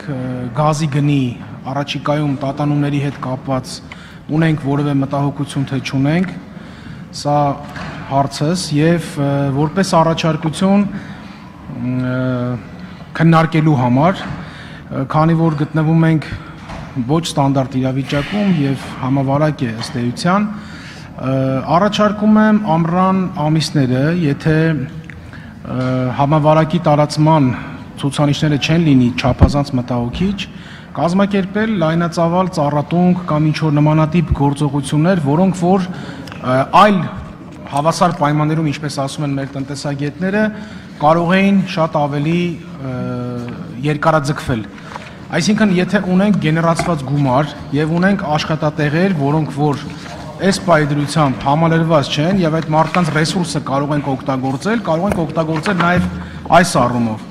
գազի գնի առաջիկայում տատանումների հետ կապված ունենք որևէ մտահոգություն թե չունենք, սա հարցս եւ որպես առաջարկություն քննարկելու համար, քանի որ գտնվում ենք ոչ ստանդարտ իրավիճակում եւ համավարակ է ըստ էության, առաջարկում եմ ամռան ամիսները, եթե համավարակի տարածման ցուցանիշները չեն լինի չափազանց մտահոգիչ, կազմակերպել լայնածավալ ծառատունք կամ ինչ-որ նմանատիպ գործողություններ, որոնք որ այլ հավասար պայմաններում, ինչպես ասում են մեր տնտեսագետները, կարող էին շատ ավելի երկարաձգվել։ Այսինքն, եթե ունենք գեներացված գումար եւ ունենք աշխատատեղեր, որոնք որ այս պայդրությամբ համալրված չեն եւ այդ մարդկանց ռեսուրսը կարող ենք օգտագործել, կարող ենք օգտագործել նաեւ այս առումով։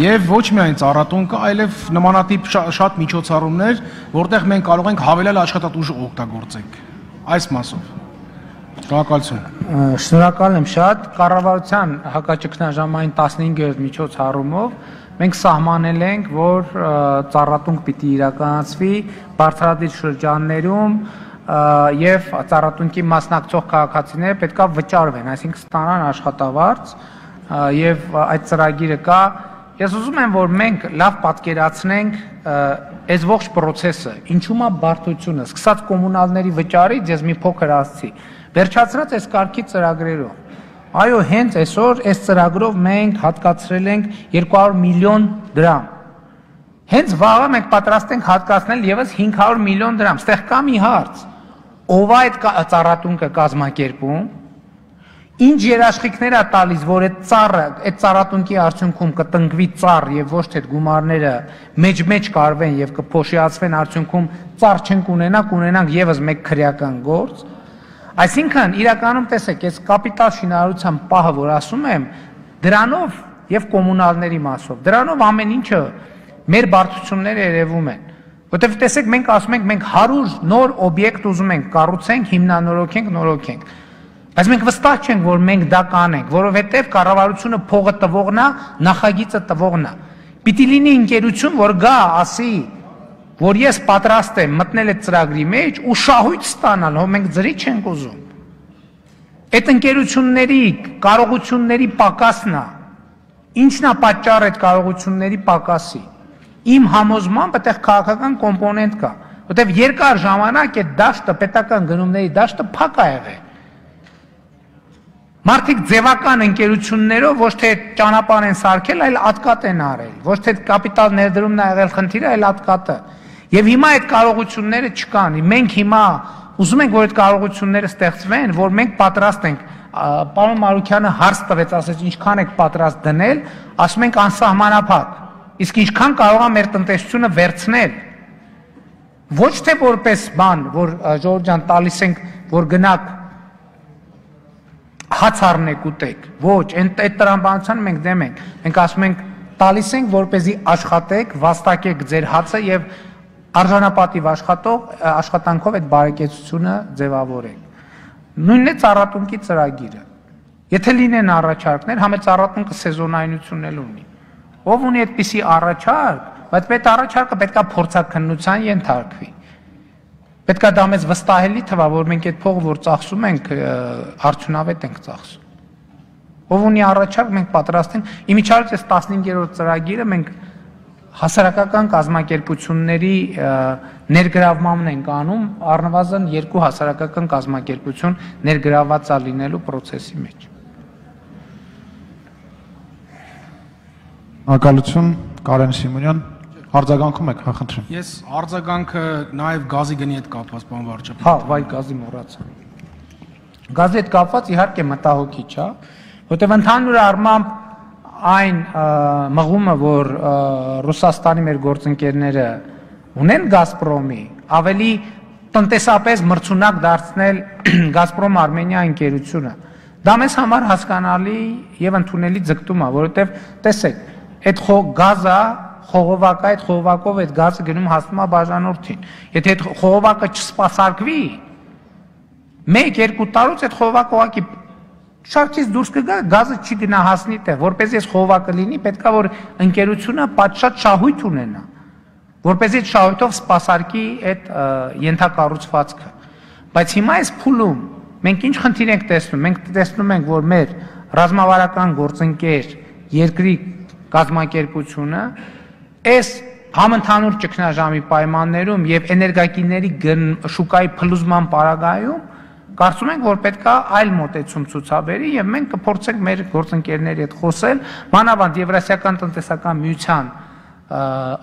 Եվ ոչ միայն ծառատունկը, այլև նմանատիպ շատ միջոցառումներ, որտեղ մենք կարող ենք հավելյալ աշխատատուժ օգտագործենք այս մասով։ Շնորհակալություն։ Շնորհակալ եմ շատ։ Կառավարության հակաճգնաժամային տասնհինգերորդ միջոցառումով մենք սահմանել ենք, որ ծառատունկ պիտի իրականացվի բարձրադիր շրջաններում եւ ծառատունկի մասնակցող քաղաքացիները պետքա վճարվեն, այսինքն ստանան աշխատավարձ եւ այդ ծրագիրը կա։ Ես ուզում եմ, որ մենք լավ պատկերացնենք այս ողջ process-ը, ինչու՞մ է բարդությունը, սկսած կոմունալների վճարից, ես մի փոքր ասացի, վերջացրած այս կարգի ծրագրերով։ Այո, հենց այսօր այս ծրագրով մենք հատկացրել ենք երկու հարյուր միլիոն դրամ։ Հենց վաղը մենք պատրաստ ենք հատկացնել եւս հինգ հարյուր միլիոն դրամ։ Ստեղ կա մի հարց. ով է այդ ծառատունկը կազմակերպում, ինչ երաշխիքներ է տալիս, որ այդ ծառը, այդ ծառատունկի արդյունքում կտնկվի ծառ եւ ոչ թե գումարները մեջ-մեջ կարվեն եւ կփոշիացվեն արդյունքում ծառ չենք ունենա, կունենանք եւս մեկ քրեական գործ։ Այսինքն իրականում տեսեք, այս կապիտալ շինարարության պահը, որ ասում եմ, դրանով եւ կոմունալների մասով, դրանով ամեն ինչը մեր բարդությունները երևում են։ Որտեւ տեսեք, մենք ասում ենք, մենք հարյուր նոր օբյեկտ ուզում ենք կառուցենք, հիմնանորոգենք, նորոգենք։ Բայց մենք վստահ չենք, որ մենք դա կանենք, որովհետև կառավարությունը փողը տվողն է, նախագիծը տվողն է։ Պիտի լինի ընկերություն, որ գա, ասի, որ ես պատրաստ եմ մտնել այդ ծրագրի մեջ ու շահույթ ստանալ, հո մենք ծրի չենք ուզում։ Այդ ընկերությունների կարողությունների պակասն է։ Ինչն է պատճառը այդ կարողությունների պակասի։ Իմ համոզմամբ այդտեղ քաղաքական կոմպոնենտ կա, որտեղ երկար ժամանակ այդ դաշտը, պետական գնումների դաշտը փակ ա եղել։ Մարդիկ ձևական ընկերություններով ոչ թե ճանապարհ են սարքել, այլ ատկատ են արել։ Ոչ թե կապիտալ ներդրումն է եղել խնդիրը, այլ ատկատը։ Եվ հիմա այդ կարողությունները չկան։ Մենք հիմա ուզում ենք, որ այդ կարողությունները ստեղծվեն, որ մենք պատրաստ ենք։ Պարոն Մարուքյանը հարց տվեց, ասեց, ինչքան եք պատրաստ դնել, ասում ենք անսահմանափակ։ Իսկ ինչքան կարող է մեր տնտեսությունը վերցնել։ Ոչ թե որպես բան, որ Ժողովուրդ ջան տալիս ենք, որ գնաք հաց առնեք ուտեք, ոչ, այդ տրամաբանության մենք դեմ ենք, մենք ասում ենք տալիս ենք, որպեսզի աշխատեք, վաստակեք ձեր հացը և արժանապատիվ աշխատանքով այդ բարեկեցությունը ձևավորեք։ Նույնն է ծառատունկի ծրագիրը, եթե լինեն առաջարկներ, համ է ծառատունկը սեզոնայնություն էլ ունի, ով ունի այդպիսի առաջարկ, բայց այդ առաջարկը պետք է փորձաքննության ենթարկվի։ Պետք է դա մեզ վստահելի թվա, որ մենք այդ փողը, որ ծախսում ենք, արդյունավետ ենք ծախսում։ Ով ունի առաջարկ, մենք պատրաստ ենք։ Իմիջիայլոց այս տասնհինգերորդ ծրագիրը մենք հասարակական կազմակերպությունների ներգրավմանն ենք անում, առնվազն երկու հասարակական կազմակերպություն ներգրավված է լինելու process-ի մեջ։ Ակալություն, Կարեն Սիմոնյան, արձագանքում եք, հա խնդրեմ։ Ես արձագանքը նաև գազի գնի հետ կապված, պարոն վարչապետ։ Հա, վայ գազի մոռացա։ Գազի հետ կապված իհարկե մտահոգիչ է, որտեղ ընդհանուր առմամբ այն մղումը, որ Ռուսաստանի մեր գործընկերները ունեն Գազպրոմի, ավելի տնտեսապես մրցունակ դարձնել Գազպրոմ Արմենիա ընկերությունը, դա մեզ համար հասկանալի եւ ընդունելի ձգտում է, որովհետեւ տեսեք, այդ գազը խողովակը, այդ խողովակով այդ գազը գնում հասնում է բաժանորդին։ Եթե այդ խողովակը չսպասարկվի, մեկ-երկու տարուց այդ խողովակը ուղղակի շարքից դուրս կգա, գազը չի գնահասնի տեղ, որպեսզի այս խողովակը լինի, պետք է որ ընկերությունը պատշաճ շահույթ ունենա, որպեսզի այդ շահույթով սպասարկի այդ ենթակառուցվածքը։ Բայց հիմա այս փուլում մենք ինչ խնդիր ենք տեսնում։ Մենք տեսնում ենք, որ մեր ռազմավարական գործընկեր երկրի կազմակերպությունը այս համընդհանուր ճգնաժամի պայմաններում եւ էներգակիների շուկայի փլուզման պարագայում կարծում ենք, որ պետք է այլ մոտեցում ցուցաբերի եւ մենք կփորձենք մեր գործընկերների հետ խոսել, մանավանդ Եվրասիական տնտեսական միության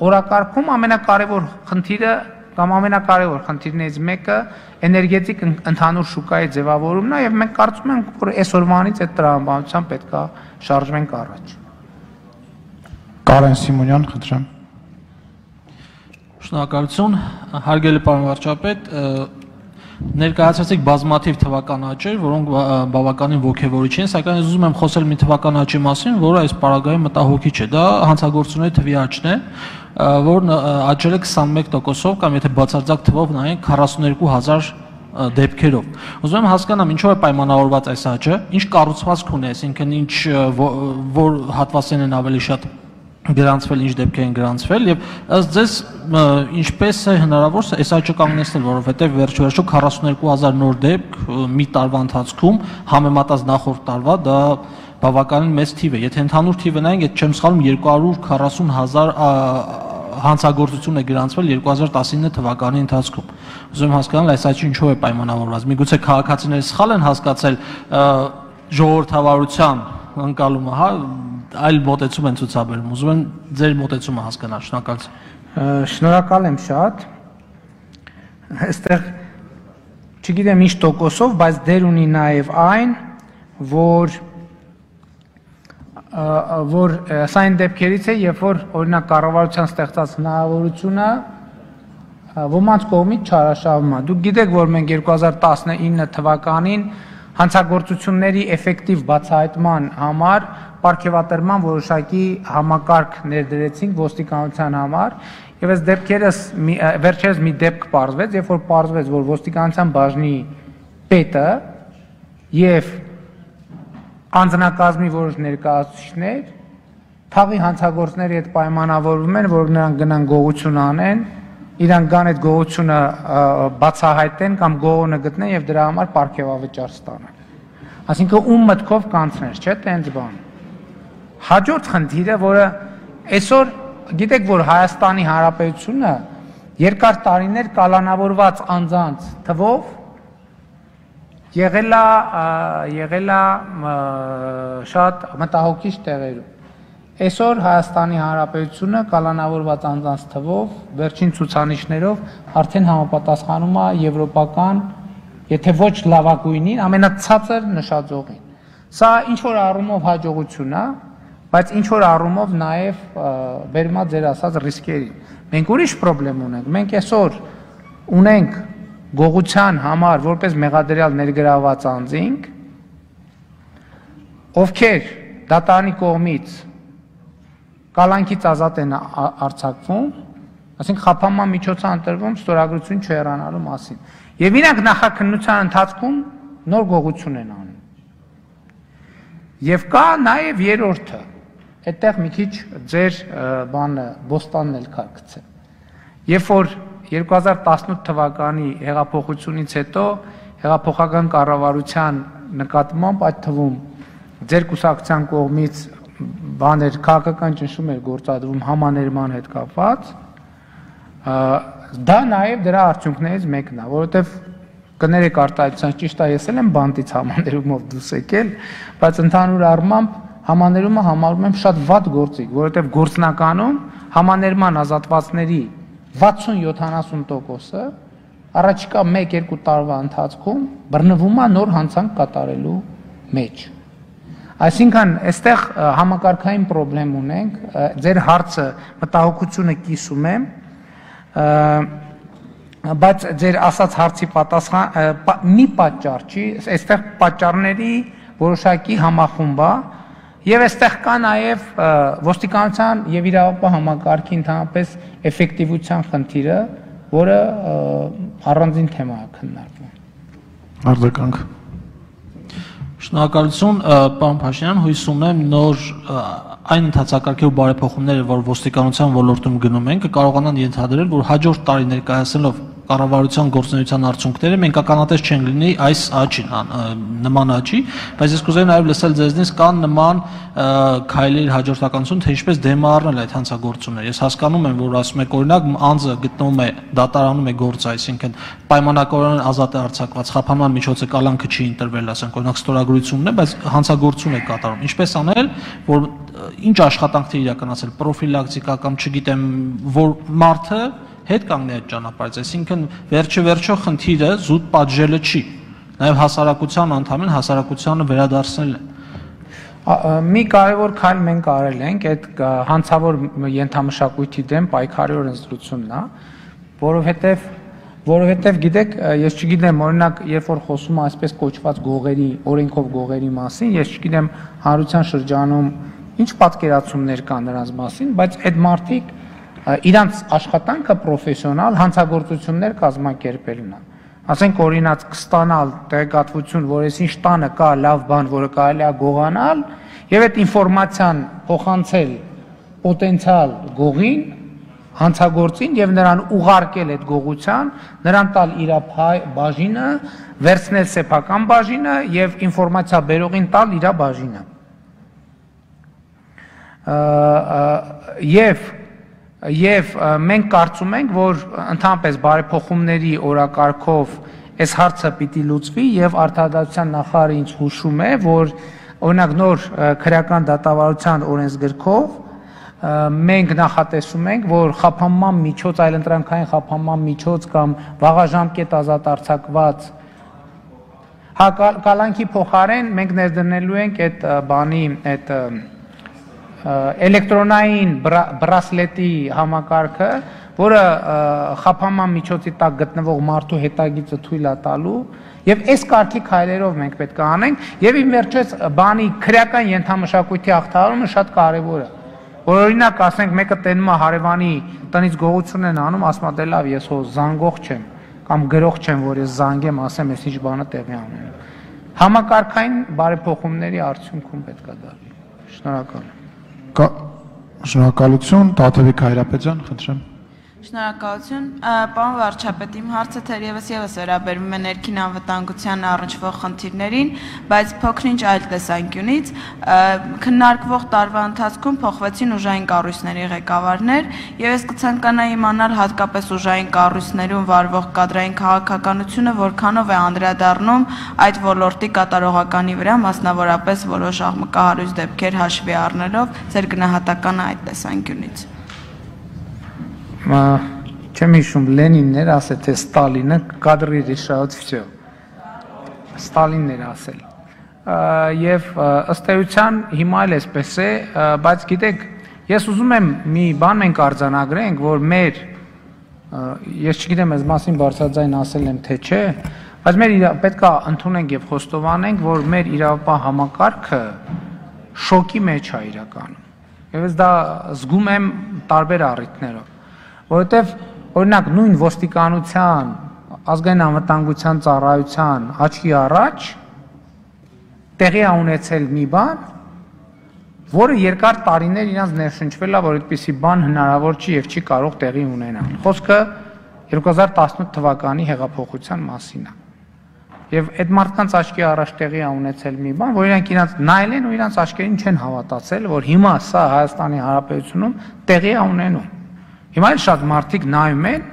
օրակարգում ամենակարևոր խնդիրը կամ ամենակարևոր խնդիրներից մեկը էներգետիկ ընդհանուր շուկայի ձևավորումն է եւ մենք կարծում ենք, որ այսօրվանից այդ տրամաբանությամբ պետք է շարժվենք առաջ։ Կարեն Սիմոնյան, խնդրեմ։ Շնորհակալություն, հարգելի պարոն վարչապետ, ներկայացրեցիք բազմաթիվ թվական աճեր, որոնք բավականին ոգևորիչ են, սակայն ես ուզում եմ խոսել մի թվական աճի մասին, որը այս պարագայում մտահոգիչ է։ Դա հանցագործությունների թվի աճն է, որն աճել է քսանմեկ տոկոսով կամ եթե բացարձակ թվով նայենք քառասուններկու հազար դեպքերով։ Ուզում եմ հասկանամ ինչով է պայմանավորված այս աճը, ինչ կառուցվածք ունի, այսինքն ինչ որ հատվածներն են ավելի շատ գրանցվել, ինչ դեպքեր են գրանցվել եւ ըստ ձեզ ինչպես է հնարավոր այս աճը կանգնեցնել, որովհետեւ վերջ-վերջո քառասուններկու հազար նոր դեպք մի տարվա ընթացքում համեմատած նախորդ տարվա դա բավականին մեծ թիվ է։ Եթե ընդհանուր թիվը նայենք, այդ չեմ սխալվում երկու հարյուր քառասուն հազար հանցագործություն է գրանցվել երկու հազար տասնինը թվականի ընթացքում։ Ուզում եմ հասկանալ այս աճը ինչով է պայմանավորված։ Միգուցե քաղաքացիները սխալ են հասկացել ժողովրդավարության ընկալումը, հա, այլ մոտեցում են ցուցաբերում։ Ուզում եմ ձեր մոտեցումը հասկանալ, շնորհակալություն։ Շնորհակալ եմ շատ։ Այստեղ չգիտեմ ինչ տոկոսով, բայց դեր ունի նաև այն, որ որ սա այն դեպքերից է, երբ որ օրինակ կառավարության ստեղծած հնարավորությունը ոմանց կողմից չարաշահվում է։ Դուք գիտեք, որ մենք երկու հազար տասնինը թվականին հանցագործությունների էֆեկտիվ բացահայտման համար պարգևատրման որոշակի համակարգ ներդրեցինք ոստիկանության համար եւ այս դեպքերս վերջերս մի դեպք պարզվեց, երբ որ պարզվեց, որ ոստիկանության բաժնի պետը եւ անձնակազմի որոշ ներկայացուցիչներ թաղի հանցագործների հետ պայմանավորվում են, որ նրանք գնան գողություն անեն, իրանք գան այդ գողությունը բացահայտեն կամ գողոնը գտնեն եւ դրա համար պարգևավճար ստանան։ Այսինքն ում մտքով կանցներ, չէ՞, տենց բան։ Հաջորդ խնդիրը, որը այսօր գիտեք, որ Հայաստանի Հանրապետությունը երկար տարիներ կալանավորված անձանց թվով եղել է եղել է շատ մտահոգիչ տեղերում։ Այսօր Հայաստանի Հանրապետությունը կալանավորված անձանց թվով, վերջին ցուցանիշներով արդեն համապատասխանում է եվրոպական, եթե ոչ լավագույնին, ամենացածր նշաձողին։ Սա ինչ որ առումով հաջողություն է, բայց ինչ որ առումով նաև բերում է ձեր ասած ռիսկերին։ Մենք ուրիշ խնդրեմ ունենք։ Մենք այսօր ունենք գողության համար որպես մեղադրյալ ներգրաված անձինք, ովքեր դատարանի կողմից կալանքից ազատ են արձակվում, ասենք խափանման միջոց է ընտրվում ստորագրություն չհեռանալու մասին։ Եվ իրանք նախաքննության ընթացքում նոր գողություն են անում։ Եվ կա նաև երրորդը, այդտեղ մի քիչ ձեր բանը բոստանն էլ քարքցե։ Երբ որ երկու հազար տասնութ թվականի հեղափոխությունից հետո հեղափոխական կառավարության նկատմամբ այդ թվում ձեր կուսակցության կողմից բաներ քաղաքական ճնշում էր գործադրվում համաներման հետ կապված, դա նաև դրա արդյունքներից մեկն է, որովհետև կներեք արտահայտության ճիշտ է, ես էլ եմ բանտից համաներումով դուրս եկել, բայց ընդհանուր առմամբ համաներումը համարում եմ շատ վատ գործիք, որովհետև գործնականում համաներման ազատվածների վաթսուն յոթանասուն տոկոսը առաջիկա մեկ-երկու տարվա ընթացքում բռնվում է նոր հանցանք կատարելու մեջ։ Այսինքն, այստեղ համակարգային խնդրեմ ունենք, ձեր հարցը մտահոգությունը կիսում եմ, բայց ձեր ասած հարցի պատասխան մի պատճառ չի, այստեղ պատճառների որոշակի համախումբ է, եւ այստեղ կա նաեւ ոստիկանության եւ իրավապահ համակարգի ընդհանրապես էֆեկտիվության խնդիրը, որը առանձին թեմա է քննարկվում։ Արձագանք։ Շնորհակալություն, պարոն Փաշինյան, հույս ունեմ նոր այն ընթացակարգի ու բարեփոխումները, որ ոստիկանության ոլորտում գնում են, կկարողանան ենթադրել, որ հաջորդ տարի ներկայացնելով կառավարության գործունեության արդյունքները մենք ականատես չենք լինի այս աճին, նման աճի, բայց ես կուզեի նաև լսել ձեզնից կան նման քայլերի հաջորդականություն, թե ինչպես դեմ առնել այդ հանցագործությունները։ Ես հասկանում եմ, որ ասում եք օրինակ անձը գտնվում է դատարանում է գործը, այսինքն պայմանականորեն ազատ է արձակված, խափանման միջոցը կալանքը չի ընտրվել, ասենք օրինակ ստորագրությունն է, բայց հանցագործություն է կատարում։ Ինչպես անել, որ ինչ աշխատանքներ իրականացնել, պրոֆիլակտիկա կամ չգիտեմ, որ մարդը հետ կանգնի այդ ճանապարհից, այսինքն վերջը վերջո խնդիրը զուտ պատժելը չի, նաև հասարակության անդամին հասարակությանը վերադարձնել է։ Մի կարևոր քայլ մենք արել ենք, այդ հանցավոր ենթամշակույթի դեմ պայքարի օրենսդրությունն է, որովհետև որովհետև գիտեք, ես չգիտեմ, օրինակ, երբ որ խոսում է այսպես կոչված գողերի, օրենքով գողերի մասին, ես չգիտեմ հանրության շրջանում ինչ պատկերացումներ կան նրանց մասին, բայց այդ մարդիկ իրանց աշխատանքը պրոֆեսիոնալ հանցագործություններ կազմակերպելն է։ Ասենք օրինակ կստանալ տեղեկատվություն, որ այս ինչ տանը կա լավ բան, որը կարելի է գողանալ, եւ այդ ինֆորմացիան փոխանցել պոտենցիալ գողին, հանցագործին եւ նրան ուղարկել այդ գողության, նրան տալ իր բաժինը, վերցնել սեփական բաժինը եւ ինֆորմացիա բերողին տալ իր բաժինը։ Եվ Եվ մենք կարծում ենք, որ ընդհանրապես բարեփոխումների օրակարգով այս հարցը պիտի լուծվի եւ Արտադրության նախարարը ինձ հուշում է, որ օրինակ նոր քրեական դատավարության օրենսգրքով մենք նախատեսում ենք, որ խափանման միջոց, այլընտրանքային խափանման միջոց կամ վաղաժամկետ ազատ արձակված կալանքի փոխարեն մենք ներդնելու ենք այդ բանի այդ էլեկտրոնային բրասլետի համակարգը, որը խափանման միջոցի տակ գտնվող մարդու հետագիծը թույլ է տալու, եւ այս կարգի քայլերով մենք պետք է անենք, եւ իմ վերջերս բանի քրեական ենթամշակույթի ախտարումը շատ կարեւոր է։ Որ օրինակ ասենք մեկը տենում է հարևանի տնից գողություն են անում, ասում է դե լավ, ես հո զանգող չեմ կամ գրող չեմ, որ ես զանգեմ, ասեմ, ես ինչ բանը տեղի ունենում։ Համակարգային բարեփոխումների արդյունքում պետք է դա։ Շնորհակալ եմ։ Շնորհակալություն, Տաթևիկ Հայրապետյան, խնդրեմ։ Շնորհակալություն, պարոն վարչապետ, իմ հարցը թերևս եւս վերաբերում է ներքին անվտանգության առնչվող խնդիրներին, բայց փոքրինչ այլ տեսանկյունից քննարկվող տարվա ընթացքում փոխվեցին ուժային կառույցների ղեկավարներ, եւ ես կցանկանայի իմանալ հատկապես ուժային կառույցներում վարվող կադրային քաղաքականությունը որքանով է անդրադառնում այդ ոլորտի կատարողականի վրա, մասնավորապես որոշ աղմկահարույց դեպքեր հաշվի առնելով, ձեր գնահատականը այդ տեսանկյունից։ Չեմ հիշում, Լենինն էր ասել, թե Ստալինը կադրի решают всё։ Ստալինն էր ասել։ Եվ ըստ էության հիմա էլ էսպես է, բայց գիտեք, ես ուզում եմ մի բան մենք արձանագրենք, որ մեր ես չգիտեմ, այս մասին բարձրաձայն ասել եմ թե չէ, բայց մեր պետք է ընդունենք եւ խոստովանենք, որ մեր իրավապահ համակարգը շոկի մեջ է իրականում։ Եվ ես դա զգում եմ տարբեր առիթներով։ Որովհետև օրինակ նույն ոստիկանության, ազգային անվտանգության ծառայության աչքի առաջ տեղի է ունեցել մի բան, որը երկար տարիներ իրանց ներշնչվել է, որ այդպիսի բան հնարավոր չի եւ չի կարող տեղի ունենալ։ Խոսքը երկու հազար տասնութ թվականի հեղափոխության մասին է։ Եվ այդ մարդկանց աչքի առաջ տեղի է ունեցել մի բան, որ իրանք իրանց նայել են ու իրանց աչքերին չեն հավատացել, որ հիմա սա Հայաստանի Հանրապետությունում տեղի է ունենում։ Հիմա էլ շատ մարդիկ նայում են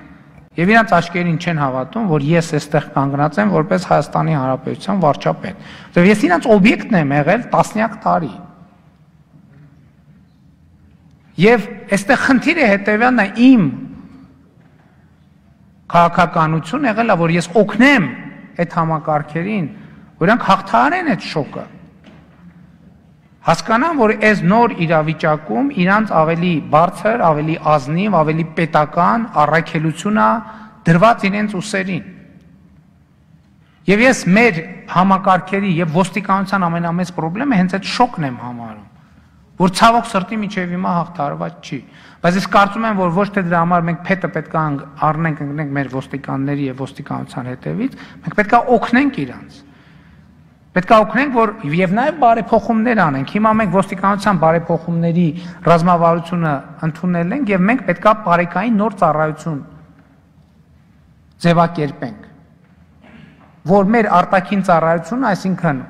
եւ իրանց աչքերին չեն հավատում, որ ես այստեղ կանգնած եմ որպես Հայաստանի Հանրապետության վարչապետ։ Որտեւ ես իրանց օբյեկտն եմ եղել տասնյակ տարի։ Եվ այստեղ խնդիրը հետեւյալն է, իմ քաղաքականություն եղել է, որ ես օգնեմ այդ համակարգերին, որ իրանք հաղթահարեն այդ շոկը։ Հասկանան, որ այս նոր իրավիճակում իրանց ավելի բարձր, ավելի ազնիվ, ավելի պետական առաքելություն է դրված իրենց ուսերին։ Եվ ես մեր համակարգերի եւ ոստիկանության ամենամեծ խնդրեմը հենց այդ շոկն եմ համարում, որ ցավոք սրտի միջև հիմա հաղթահարված չի։ Բայց ես կարծում եմ, որ ոչ թե դրա համար մենք փետը պետք է առնենք, ընկնենք մեր ոստիկանների եւ ոստիկանության հետևից, մենք պետք է օգնենք իրանց։ Պետք է օգնենք, որ եւ նաեւ բարեփոխումներ անենք։ Հիմա մենք ոստիկանության բարեփոխումների ռազմավարությունը ընդունել ենք եւ մենք պետք է բարեկային նոր ծառայություն ձևակերպենք, որ մեր արտաքին ծառայությունը, այսինքն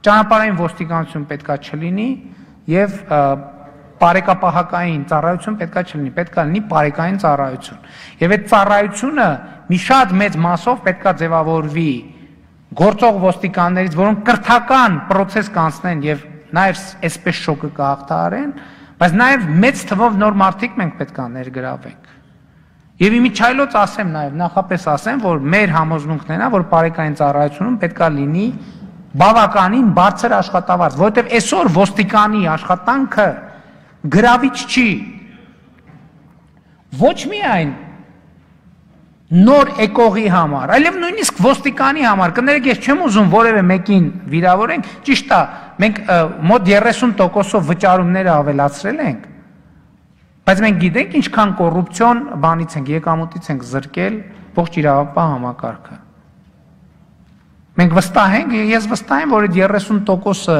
ճանապարհային ոստիկանություն պետք է չլինի եւ բարեկապահական ծառայություն պետք է չլինի, պետք է լինի բարեկային ծառայություն։ Եվ այդ ծառայությունը մի շատ մեծ մասով պետք է ձևավորվի գործող ոստիկաններից, որոնք կրթական process կանցնեն եւ նաեւ այսպես շոկը կհաղթահարեն, բայց նաեւ մեծ թվով նոր մարդիկ մենք պետք է ներգրավենք։ Եվ իմիջայլոց ասեմ նաեւ, նախապես ասեմ, որ մեր համոզմունքն է, որ բարեկային ծառայությունում պետք է լինի բավականին բարձր աշխատավարձ, որովհետեւ այսօր ոստիկանի աշխատանքը գրավիչ չի։ Ոչ միայն նոր եկողի համար, այլև նույնիսկ ոստիկանի համար, կներեք ես չեմ ուզում որևէ մեկին վիրավորենք, ճիշտ է, մենք մոտ երեսուն տոկոսով վճարումները ավելացրել ենք, բայց մենք գիտենք ինչքան կոռուպցիոն բանից ենք, եկամուտից ենք զրկել ողջ իրավապահ համակարգը։ Մենք վստահ ենք, ես վստահ եմ, որ այդ երեսուն տոկոսը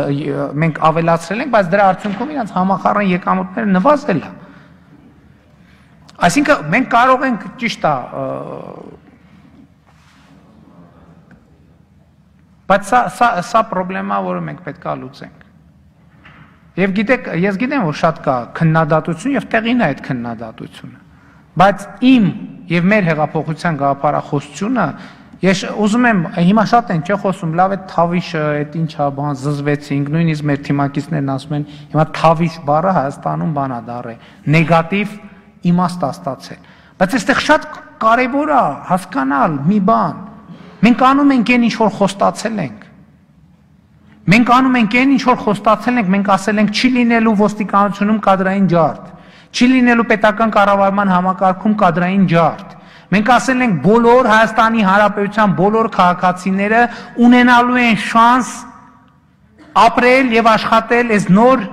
մենք ավելացրել ենք, բայց դրա արդյունքում իրանց համախառն եկամուտները նվազել է։ Այսինքն մենք կարող ենք ճիշտ է, բայց սա սա սա խնդրեմա, որը մենք պետք է լուծենք։ Եվ գիտեք, ես գիտեմ, որ շատ կա քննադատություն եւ տեղին է այդ քննադատությունը։ Բայց իմ եւ մեր հեղափոխության գաղափարախոսությունը ես ուզում եմ, հիմա շատ են չէ խոսում, լավ է թավիշը, այդ ինչա բան զզվեցինք, նույնիսկ մեր թիմակիցներն ասում են, հիմա թավիշ բառը Հայաստանում բանա դառը, նեգատիվ իմաստ ստացել։ Բայց այստեղ շատ կարևոր է հասկանալ մի բան։ Մենք անում ենք այն ինչ որ խոստացել ենք։ Մենք անում ենք այն ինչ որ խոստացել ենք, մենք ասել ենք չի լինելու ոստիկանությունում կադրային ջարդ, չի լինելու պետական կառավարման համակարգում կադրային ջարդ։ Մենք ասել ենք բոլոր Հայաստանի Հանրապետության բոլոր քաղաքացիները ունենալու են շանս ապրել եւ աշխատել այս նոր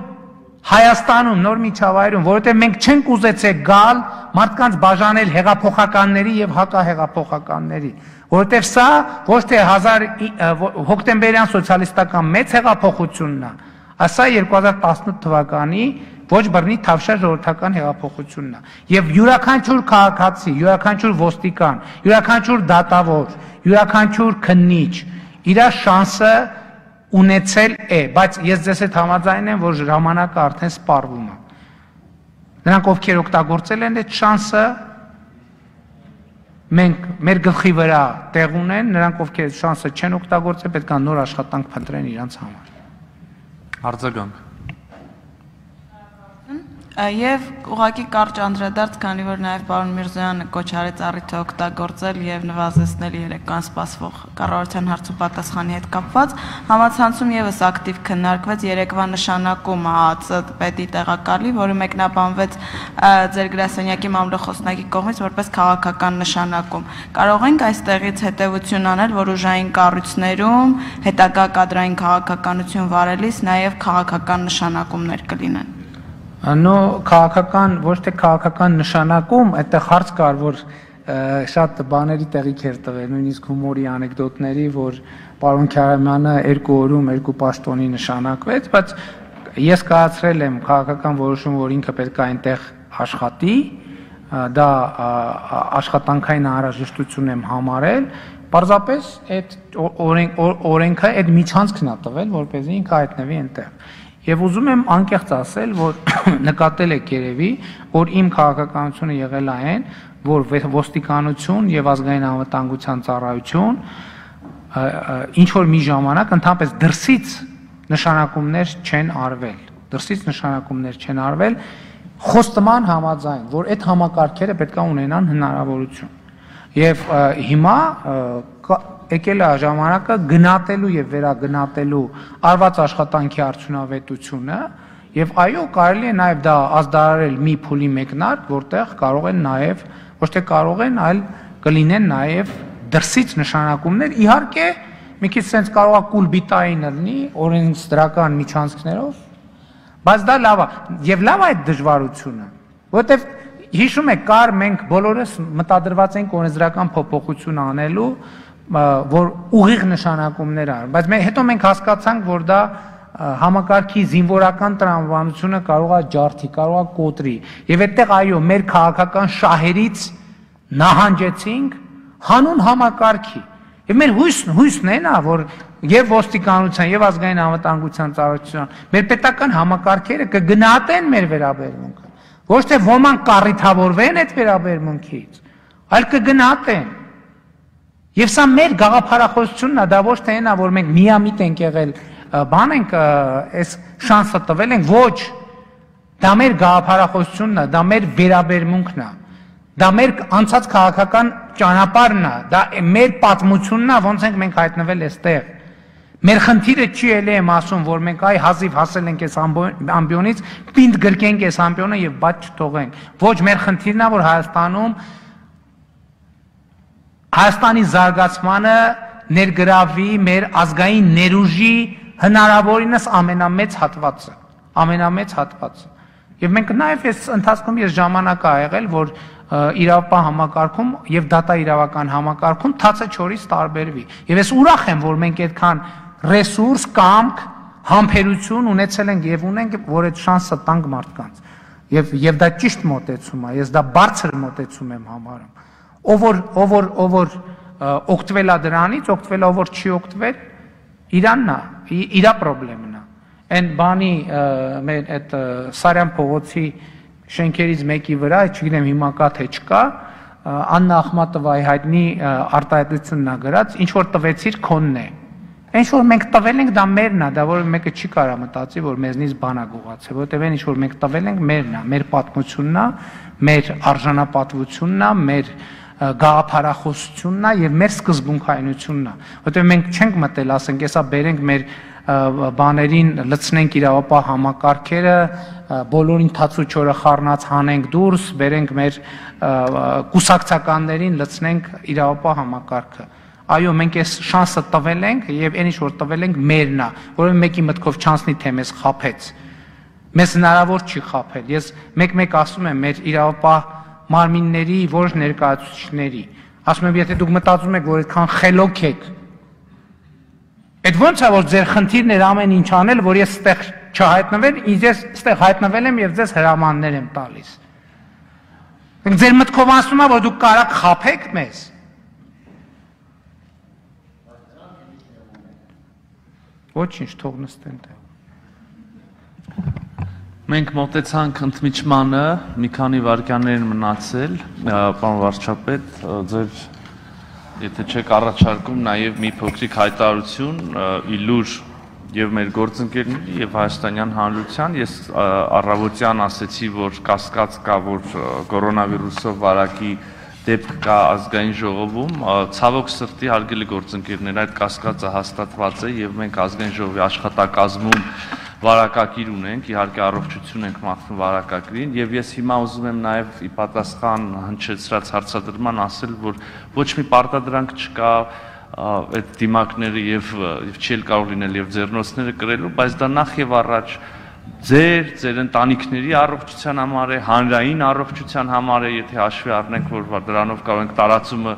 Հայաստանում, նոր միջավայրում, որովհետև մենք չենք ուզեցել գալ մարդկանց բաժանել հեղափոխականների եւ հակահեղափոխականների, որովհետև սա ոչ թե հոկտեմբերյան սոցիալիստական մեծ հեղափոխությունն է, այլ սա երկու հազար տասնութ թվականի ոչ բռնի թավշյա ժողովրդական հեղափոխությունն է։ Եվ յուրաքանչյուր քաղաքացի, յուրաքանչյուր ոստիկան, յուրաքանչյուր դատավոր, յուրաքանչյուր քննիչ իր շանսը ունեցել է, բայց ես ձեզ հետ համաձայն եմ, որ ժամանակը արդեն սպառվում է։ Նրանք ովքեր օգտագործել են այդ շանսը, մենք մեր գլխի վրա տեղ ունեն, նրանք ովքեր շանսը չեն օգտագործել, պետք է նոր աշխատանք փնտրեն իրենց համար։ Արձագանք։ Եվ ուղղակի կարճ անդրադարձ, քանի որ նաև պարոն Միրզոյանը կոչ արեց առիթը օգտագործել եւ նվազեցնել երեկոյան սպասվող կառավարության հարցու պատասխանի հետ կապված, համացանցում եւս ակտիվ քննարկվեց երեկվա նշանակումը ԱԱԾ պետի տեղակալի, որը մեկնաբանվեց ձեր գրասենյակի մամլոխոսնակի կողմից որպես քաղաքական նշանակում։ Կարող ենք այստեղից հետեւություն անել, որ ուժային կառույցներում հետագա կադրային քաղաքականություն վարելիս նաև քաղաքական նշանակումներ կլինեն։ Նո քաղաքական ոչ թե քաղաքական նշանակում, այդտեղ հարց կար, որ շատ բաների տեղիք էր տվել, նույնիսկ հումորի անեկդոտների, որ պարոն Քարամյանը երկու օրում երկու պաշտոնի նշանակվեց, բայց ես կայացրել եմ քաղաքական որոշում, որ ինքը պետք է այնտեղ աշխատի, դա աշխատանքային անհրաժեշտություն եմ համարել, պարզապես այդ օրենքը այդ միջանցքն է տվել, որպեսզի ինքը հայտնվի այնտեղ։ Եվ ուզում եմ անկեղծ ասել, որ նկատել եք երևի, որ իմ քաղաքականությունը եղել է այն, որ ոստիկանություն եւ ազգային անվտանգության ծառայություն ինչ որ մի ժամանակ ընդհանրապես դրսից նշանակումներ չեն արվել, դրսից նշանակումներ չեն արվել, խոստման համաձայն, որ այդ համակարգերը պետք է ունենան հնարավորություն։ Եվ հիմա եկել է ժամանակը գնահատելու եւ վերագնահատելու արված աշխատանքի արդյունավետությունը եւ այո կարելի է նաեւ դա ազդարարել մի փուլի մեկնարկ, որտեղ կարող են նաեւ ոչ թե կարող են, այլ կլինեն նաեւ դրսից նշանակումներ, իհարկե մի քիչ sense կարող է կուլբիտային լինի օրենսդրական միջանցքներով, բայց դա լավ է եւ լավ է այդ դժվարությունը, որովհետեւ հիշում եք կար մենք բոլորս մտադրված ենք օրենսդրական փոփոխություն անելու որ ուղիղ նշանակումներ ան, բայց մենք հետո մենք հասկացանք, որ դա համակարգի զինվորական տրամաբանությունը կարող է ջարդի, կարող է կոտրի, եւ այդտեղ այո, մեր քաղաքական շահերից նահանջեցինք հանուն համակարգի, եւ մեր հույսն հույսն է նա, որ եւ ոստիկանության եւ ազգային անվտանգության ծառայության մեր պետական համակարգերը կգնահատեն մեր վերաբերմունքը, ոչ թե ոմանք կառիթավորվեն այդ վերաբերմունքից, այլ կգնահատեն։ Եվ սա մեր գաղափարախոսությունն է, դա ոչ թե այնա, որ մենք միամիտ ենք եղել, բան ենք այս շանսը տվել ենք, ոչ, դա մեր գաղափարախոսությունն է, դա մեր վերաբերմունքն է, դա մեր անցած քաղաքական ճանապարհն է, դա մեր պատմությունն է, ոնց ենք մենք հայտնվել այստեղ։ Մեր խնդիրը չի ելի եմ ասում, որ մենք այ հազիվ հասել ենք այս ամբիոնից, պինդ գրկենք այս ամբիոնը եւ բաց չթողենք։ Ոչ, մեր խնդիրն է, որ Հայաստանում Հայաստանի զարգացմանը ներգրավի մեր ազգային ներուժի հնարավորինս ամենամեծ հատվածը, ամենամեծ հատվածը։ Եվ մենք նաև այս ընթացքում ես ժամանակ ա եղել, որ իրավապահ համակարգում եւ դատա իրավական համակարգում թացը չորից տարբերվի։ Եվ ես ուրախ եմ, որ մենք այդքան ռեսուրս, կամք, համբերություն ունեցել ենք եւ ունենք, որ այդ շանսը տանք մարդկանց։ Եվ եւ դա ճիշտ մոտեցում է, ես դա բարձր մոտեցում եմ համարում։ Ով որ ով որ ով որ օգտվել է դրանից, օգտվել ով որ չի օգտվել, իրանն է, իրա խնդիրն է։ Այն բանի մեր այդ Սարյան փողոցի շենքերից մեկի վրա, չգիտեմ հիմա կա թե չկա, Աննա Ախմատովայի հայտնի արտահայտությունն է գրած, ինչ որ տվեցիր քոնն է։ Ինչ որ մենք տվել ենք, դա մերն է, դա որ մեկը չի կարա մտածի, որ մեզնից բան է գողացել, որտեղ այն ինչ որ մենք տվել ենք, մերն է, մեր պատմությունն է, մեր արժանապատվությունն է, մեր գաղափարախոսությունն է եւ մեր սկզբունքայնությունն է, որտեղ մենք չենք մտել, ասենք, հեսա բերենք մեր բաներին լցնենք իրավապահ համակարգերը, բոլորին թացու չորը խառնած հանենք դուրս, բերենք մեր կուսակցականներին լցնենք իրավապահ համակարգը։ Այո, մենք այս շանսը տվել ենք եւ այն ինչ որ տվել ենք մերն է, որովհետեւ մեկի մտքով չանցնի թե մեզ խափեց։ Մեզ հնարավոր չի խափել։ Ես մեկ-մեկ ասում եմ մեր իրավապահ մարմինների որոշ ներկայացուցիչների, ասում եմ, եթե դուք մտածում եք, որ այդքան խելոք եք, Այդ ո՞նց է որ ձեր խնդիրն էր ամեն ինչ անել, որ ես ստեղ չհայտնվել, ինձ ես ստեղ հայտնվել եմ եւ ձեզ հրամաններ եմ տալիս։ Ձեր մտքով ասում է, որ դուք կարաք խաբեք մեզ։ Ոչինչ, թող նստեն տեղ։ Մենք մոտեցանք ընդմիջմանը, մի քանի վայրկյաններ մնացել, պարոն վարչապետ, ձեր եթե չեք առաջարկում նաև մի փոքրիկ հայտարարություն իլուր եւ մեր գործընկերների եւ հայաստանյան հանրության, ես առավոտյան ասեցի, որ կասկած կա, որ կորոնավիրուսով վարակի դեպք կա ազգային ժողովում, ցավոք սրտի հարգելի գործընկերներ, այդ կասկածը հաստատված է եւ մենք ազգային ժողովի աշխատակազմում վարակակիր ունենք, իհարկե առողջություն ենք մաղթում վարակակիրին եւ ես հիմա ուզում եմ նաեւ ի պատասխան հնչեցրած հարցադրման ասել, որ ոչ մի պարտադրանք չկա այդ դիմակները եւ եւ չի կարող լինել եւ ձեռնոցները կրելու, բայց դա նախ եւ առաջ ձեր, ձեր ընտանիքների առողջության համար է, հանրային առողջության համար է, եթե հաշվի առնենք, որ դրանով կարող ենք տարածումը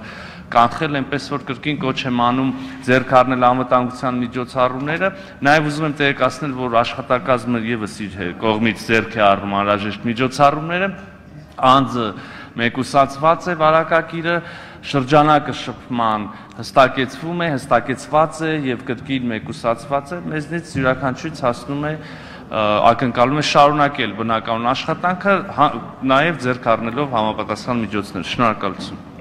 կանխել, այնպես որ կրկին կոչ եմ անում ձեռք առնել անվտանգության միջոցառումները, նաև ուզում եմ տեղեկացնել, որ աշխատակազմը եւս իր կողմից ձեռք է առնում անհրաժեշտ միջոցառումները, անձը մեկուսացված է վարակակիրը, շրջանակը շփման հստակեցվում է, հստակեցված է եւ կրկին մեկուսացված է, մեզնից յուրաքանչյուրից հասնում է ակնկալում է շարունակել բնականon աշխատանքը, նաև ձեռք առնելով համապատասխան միջոցներ։ Շնորհակալություն։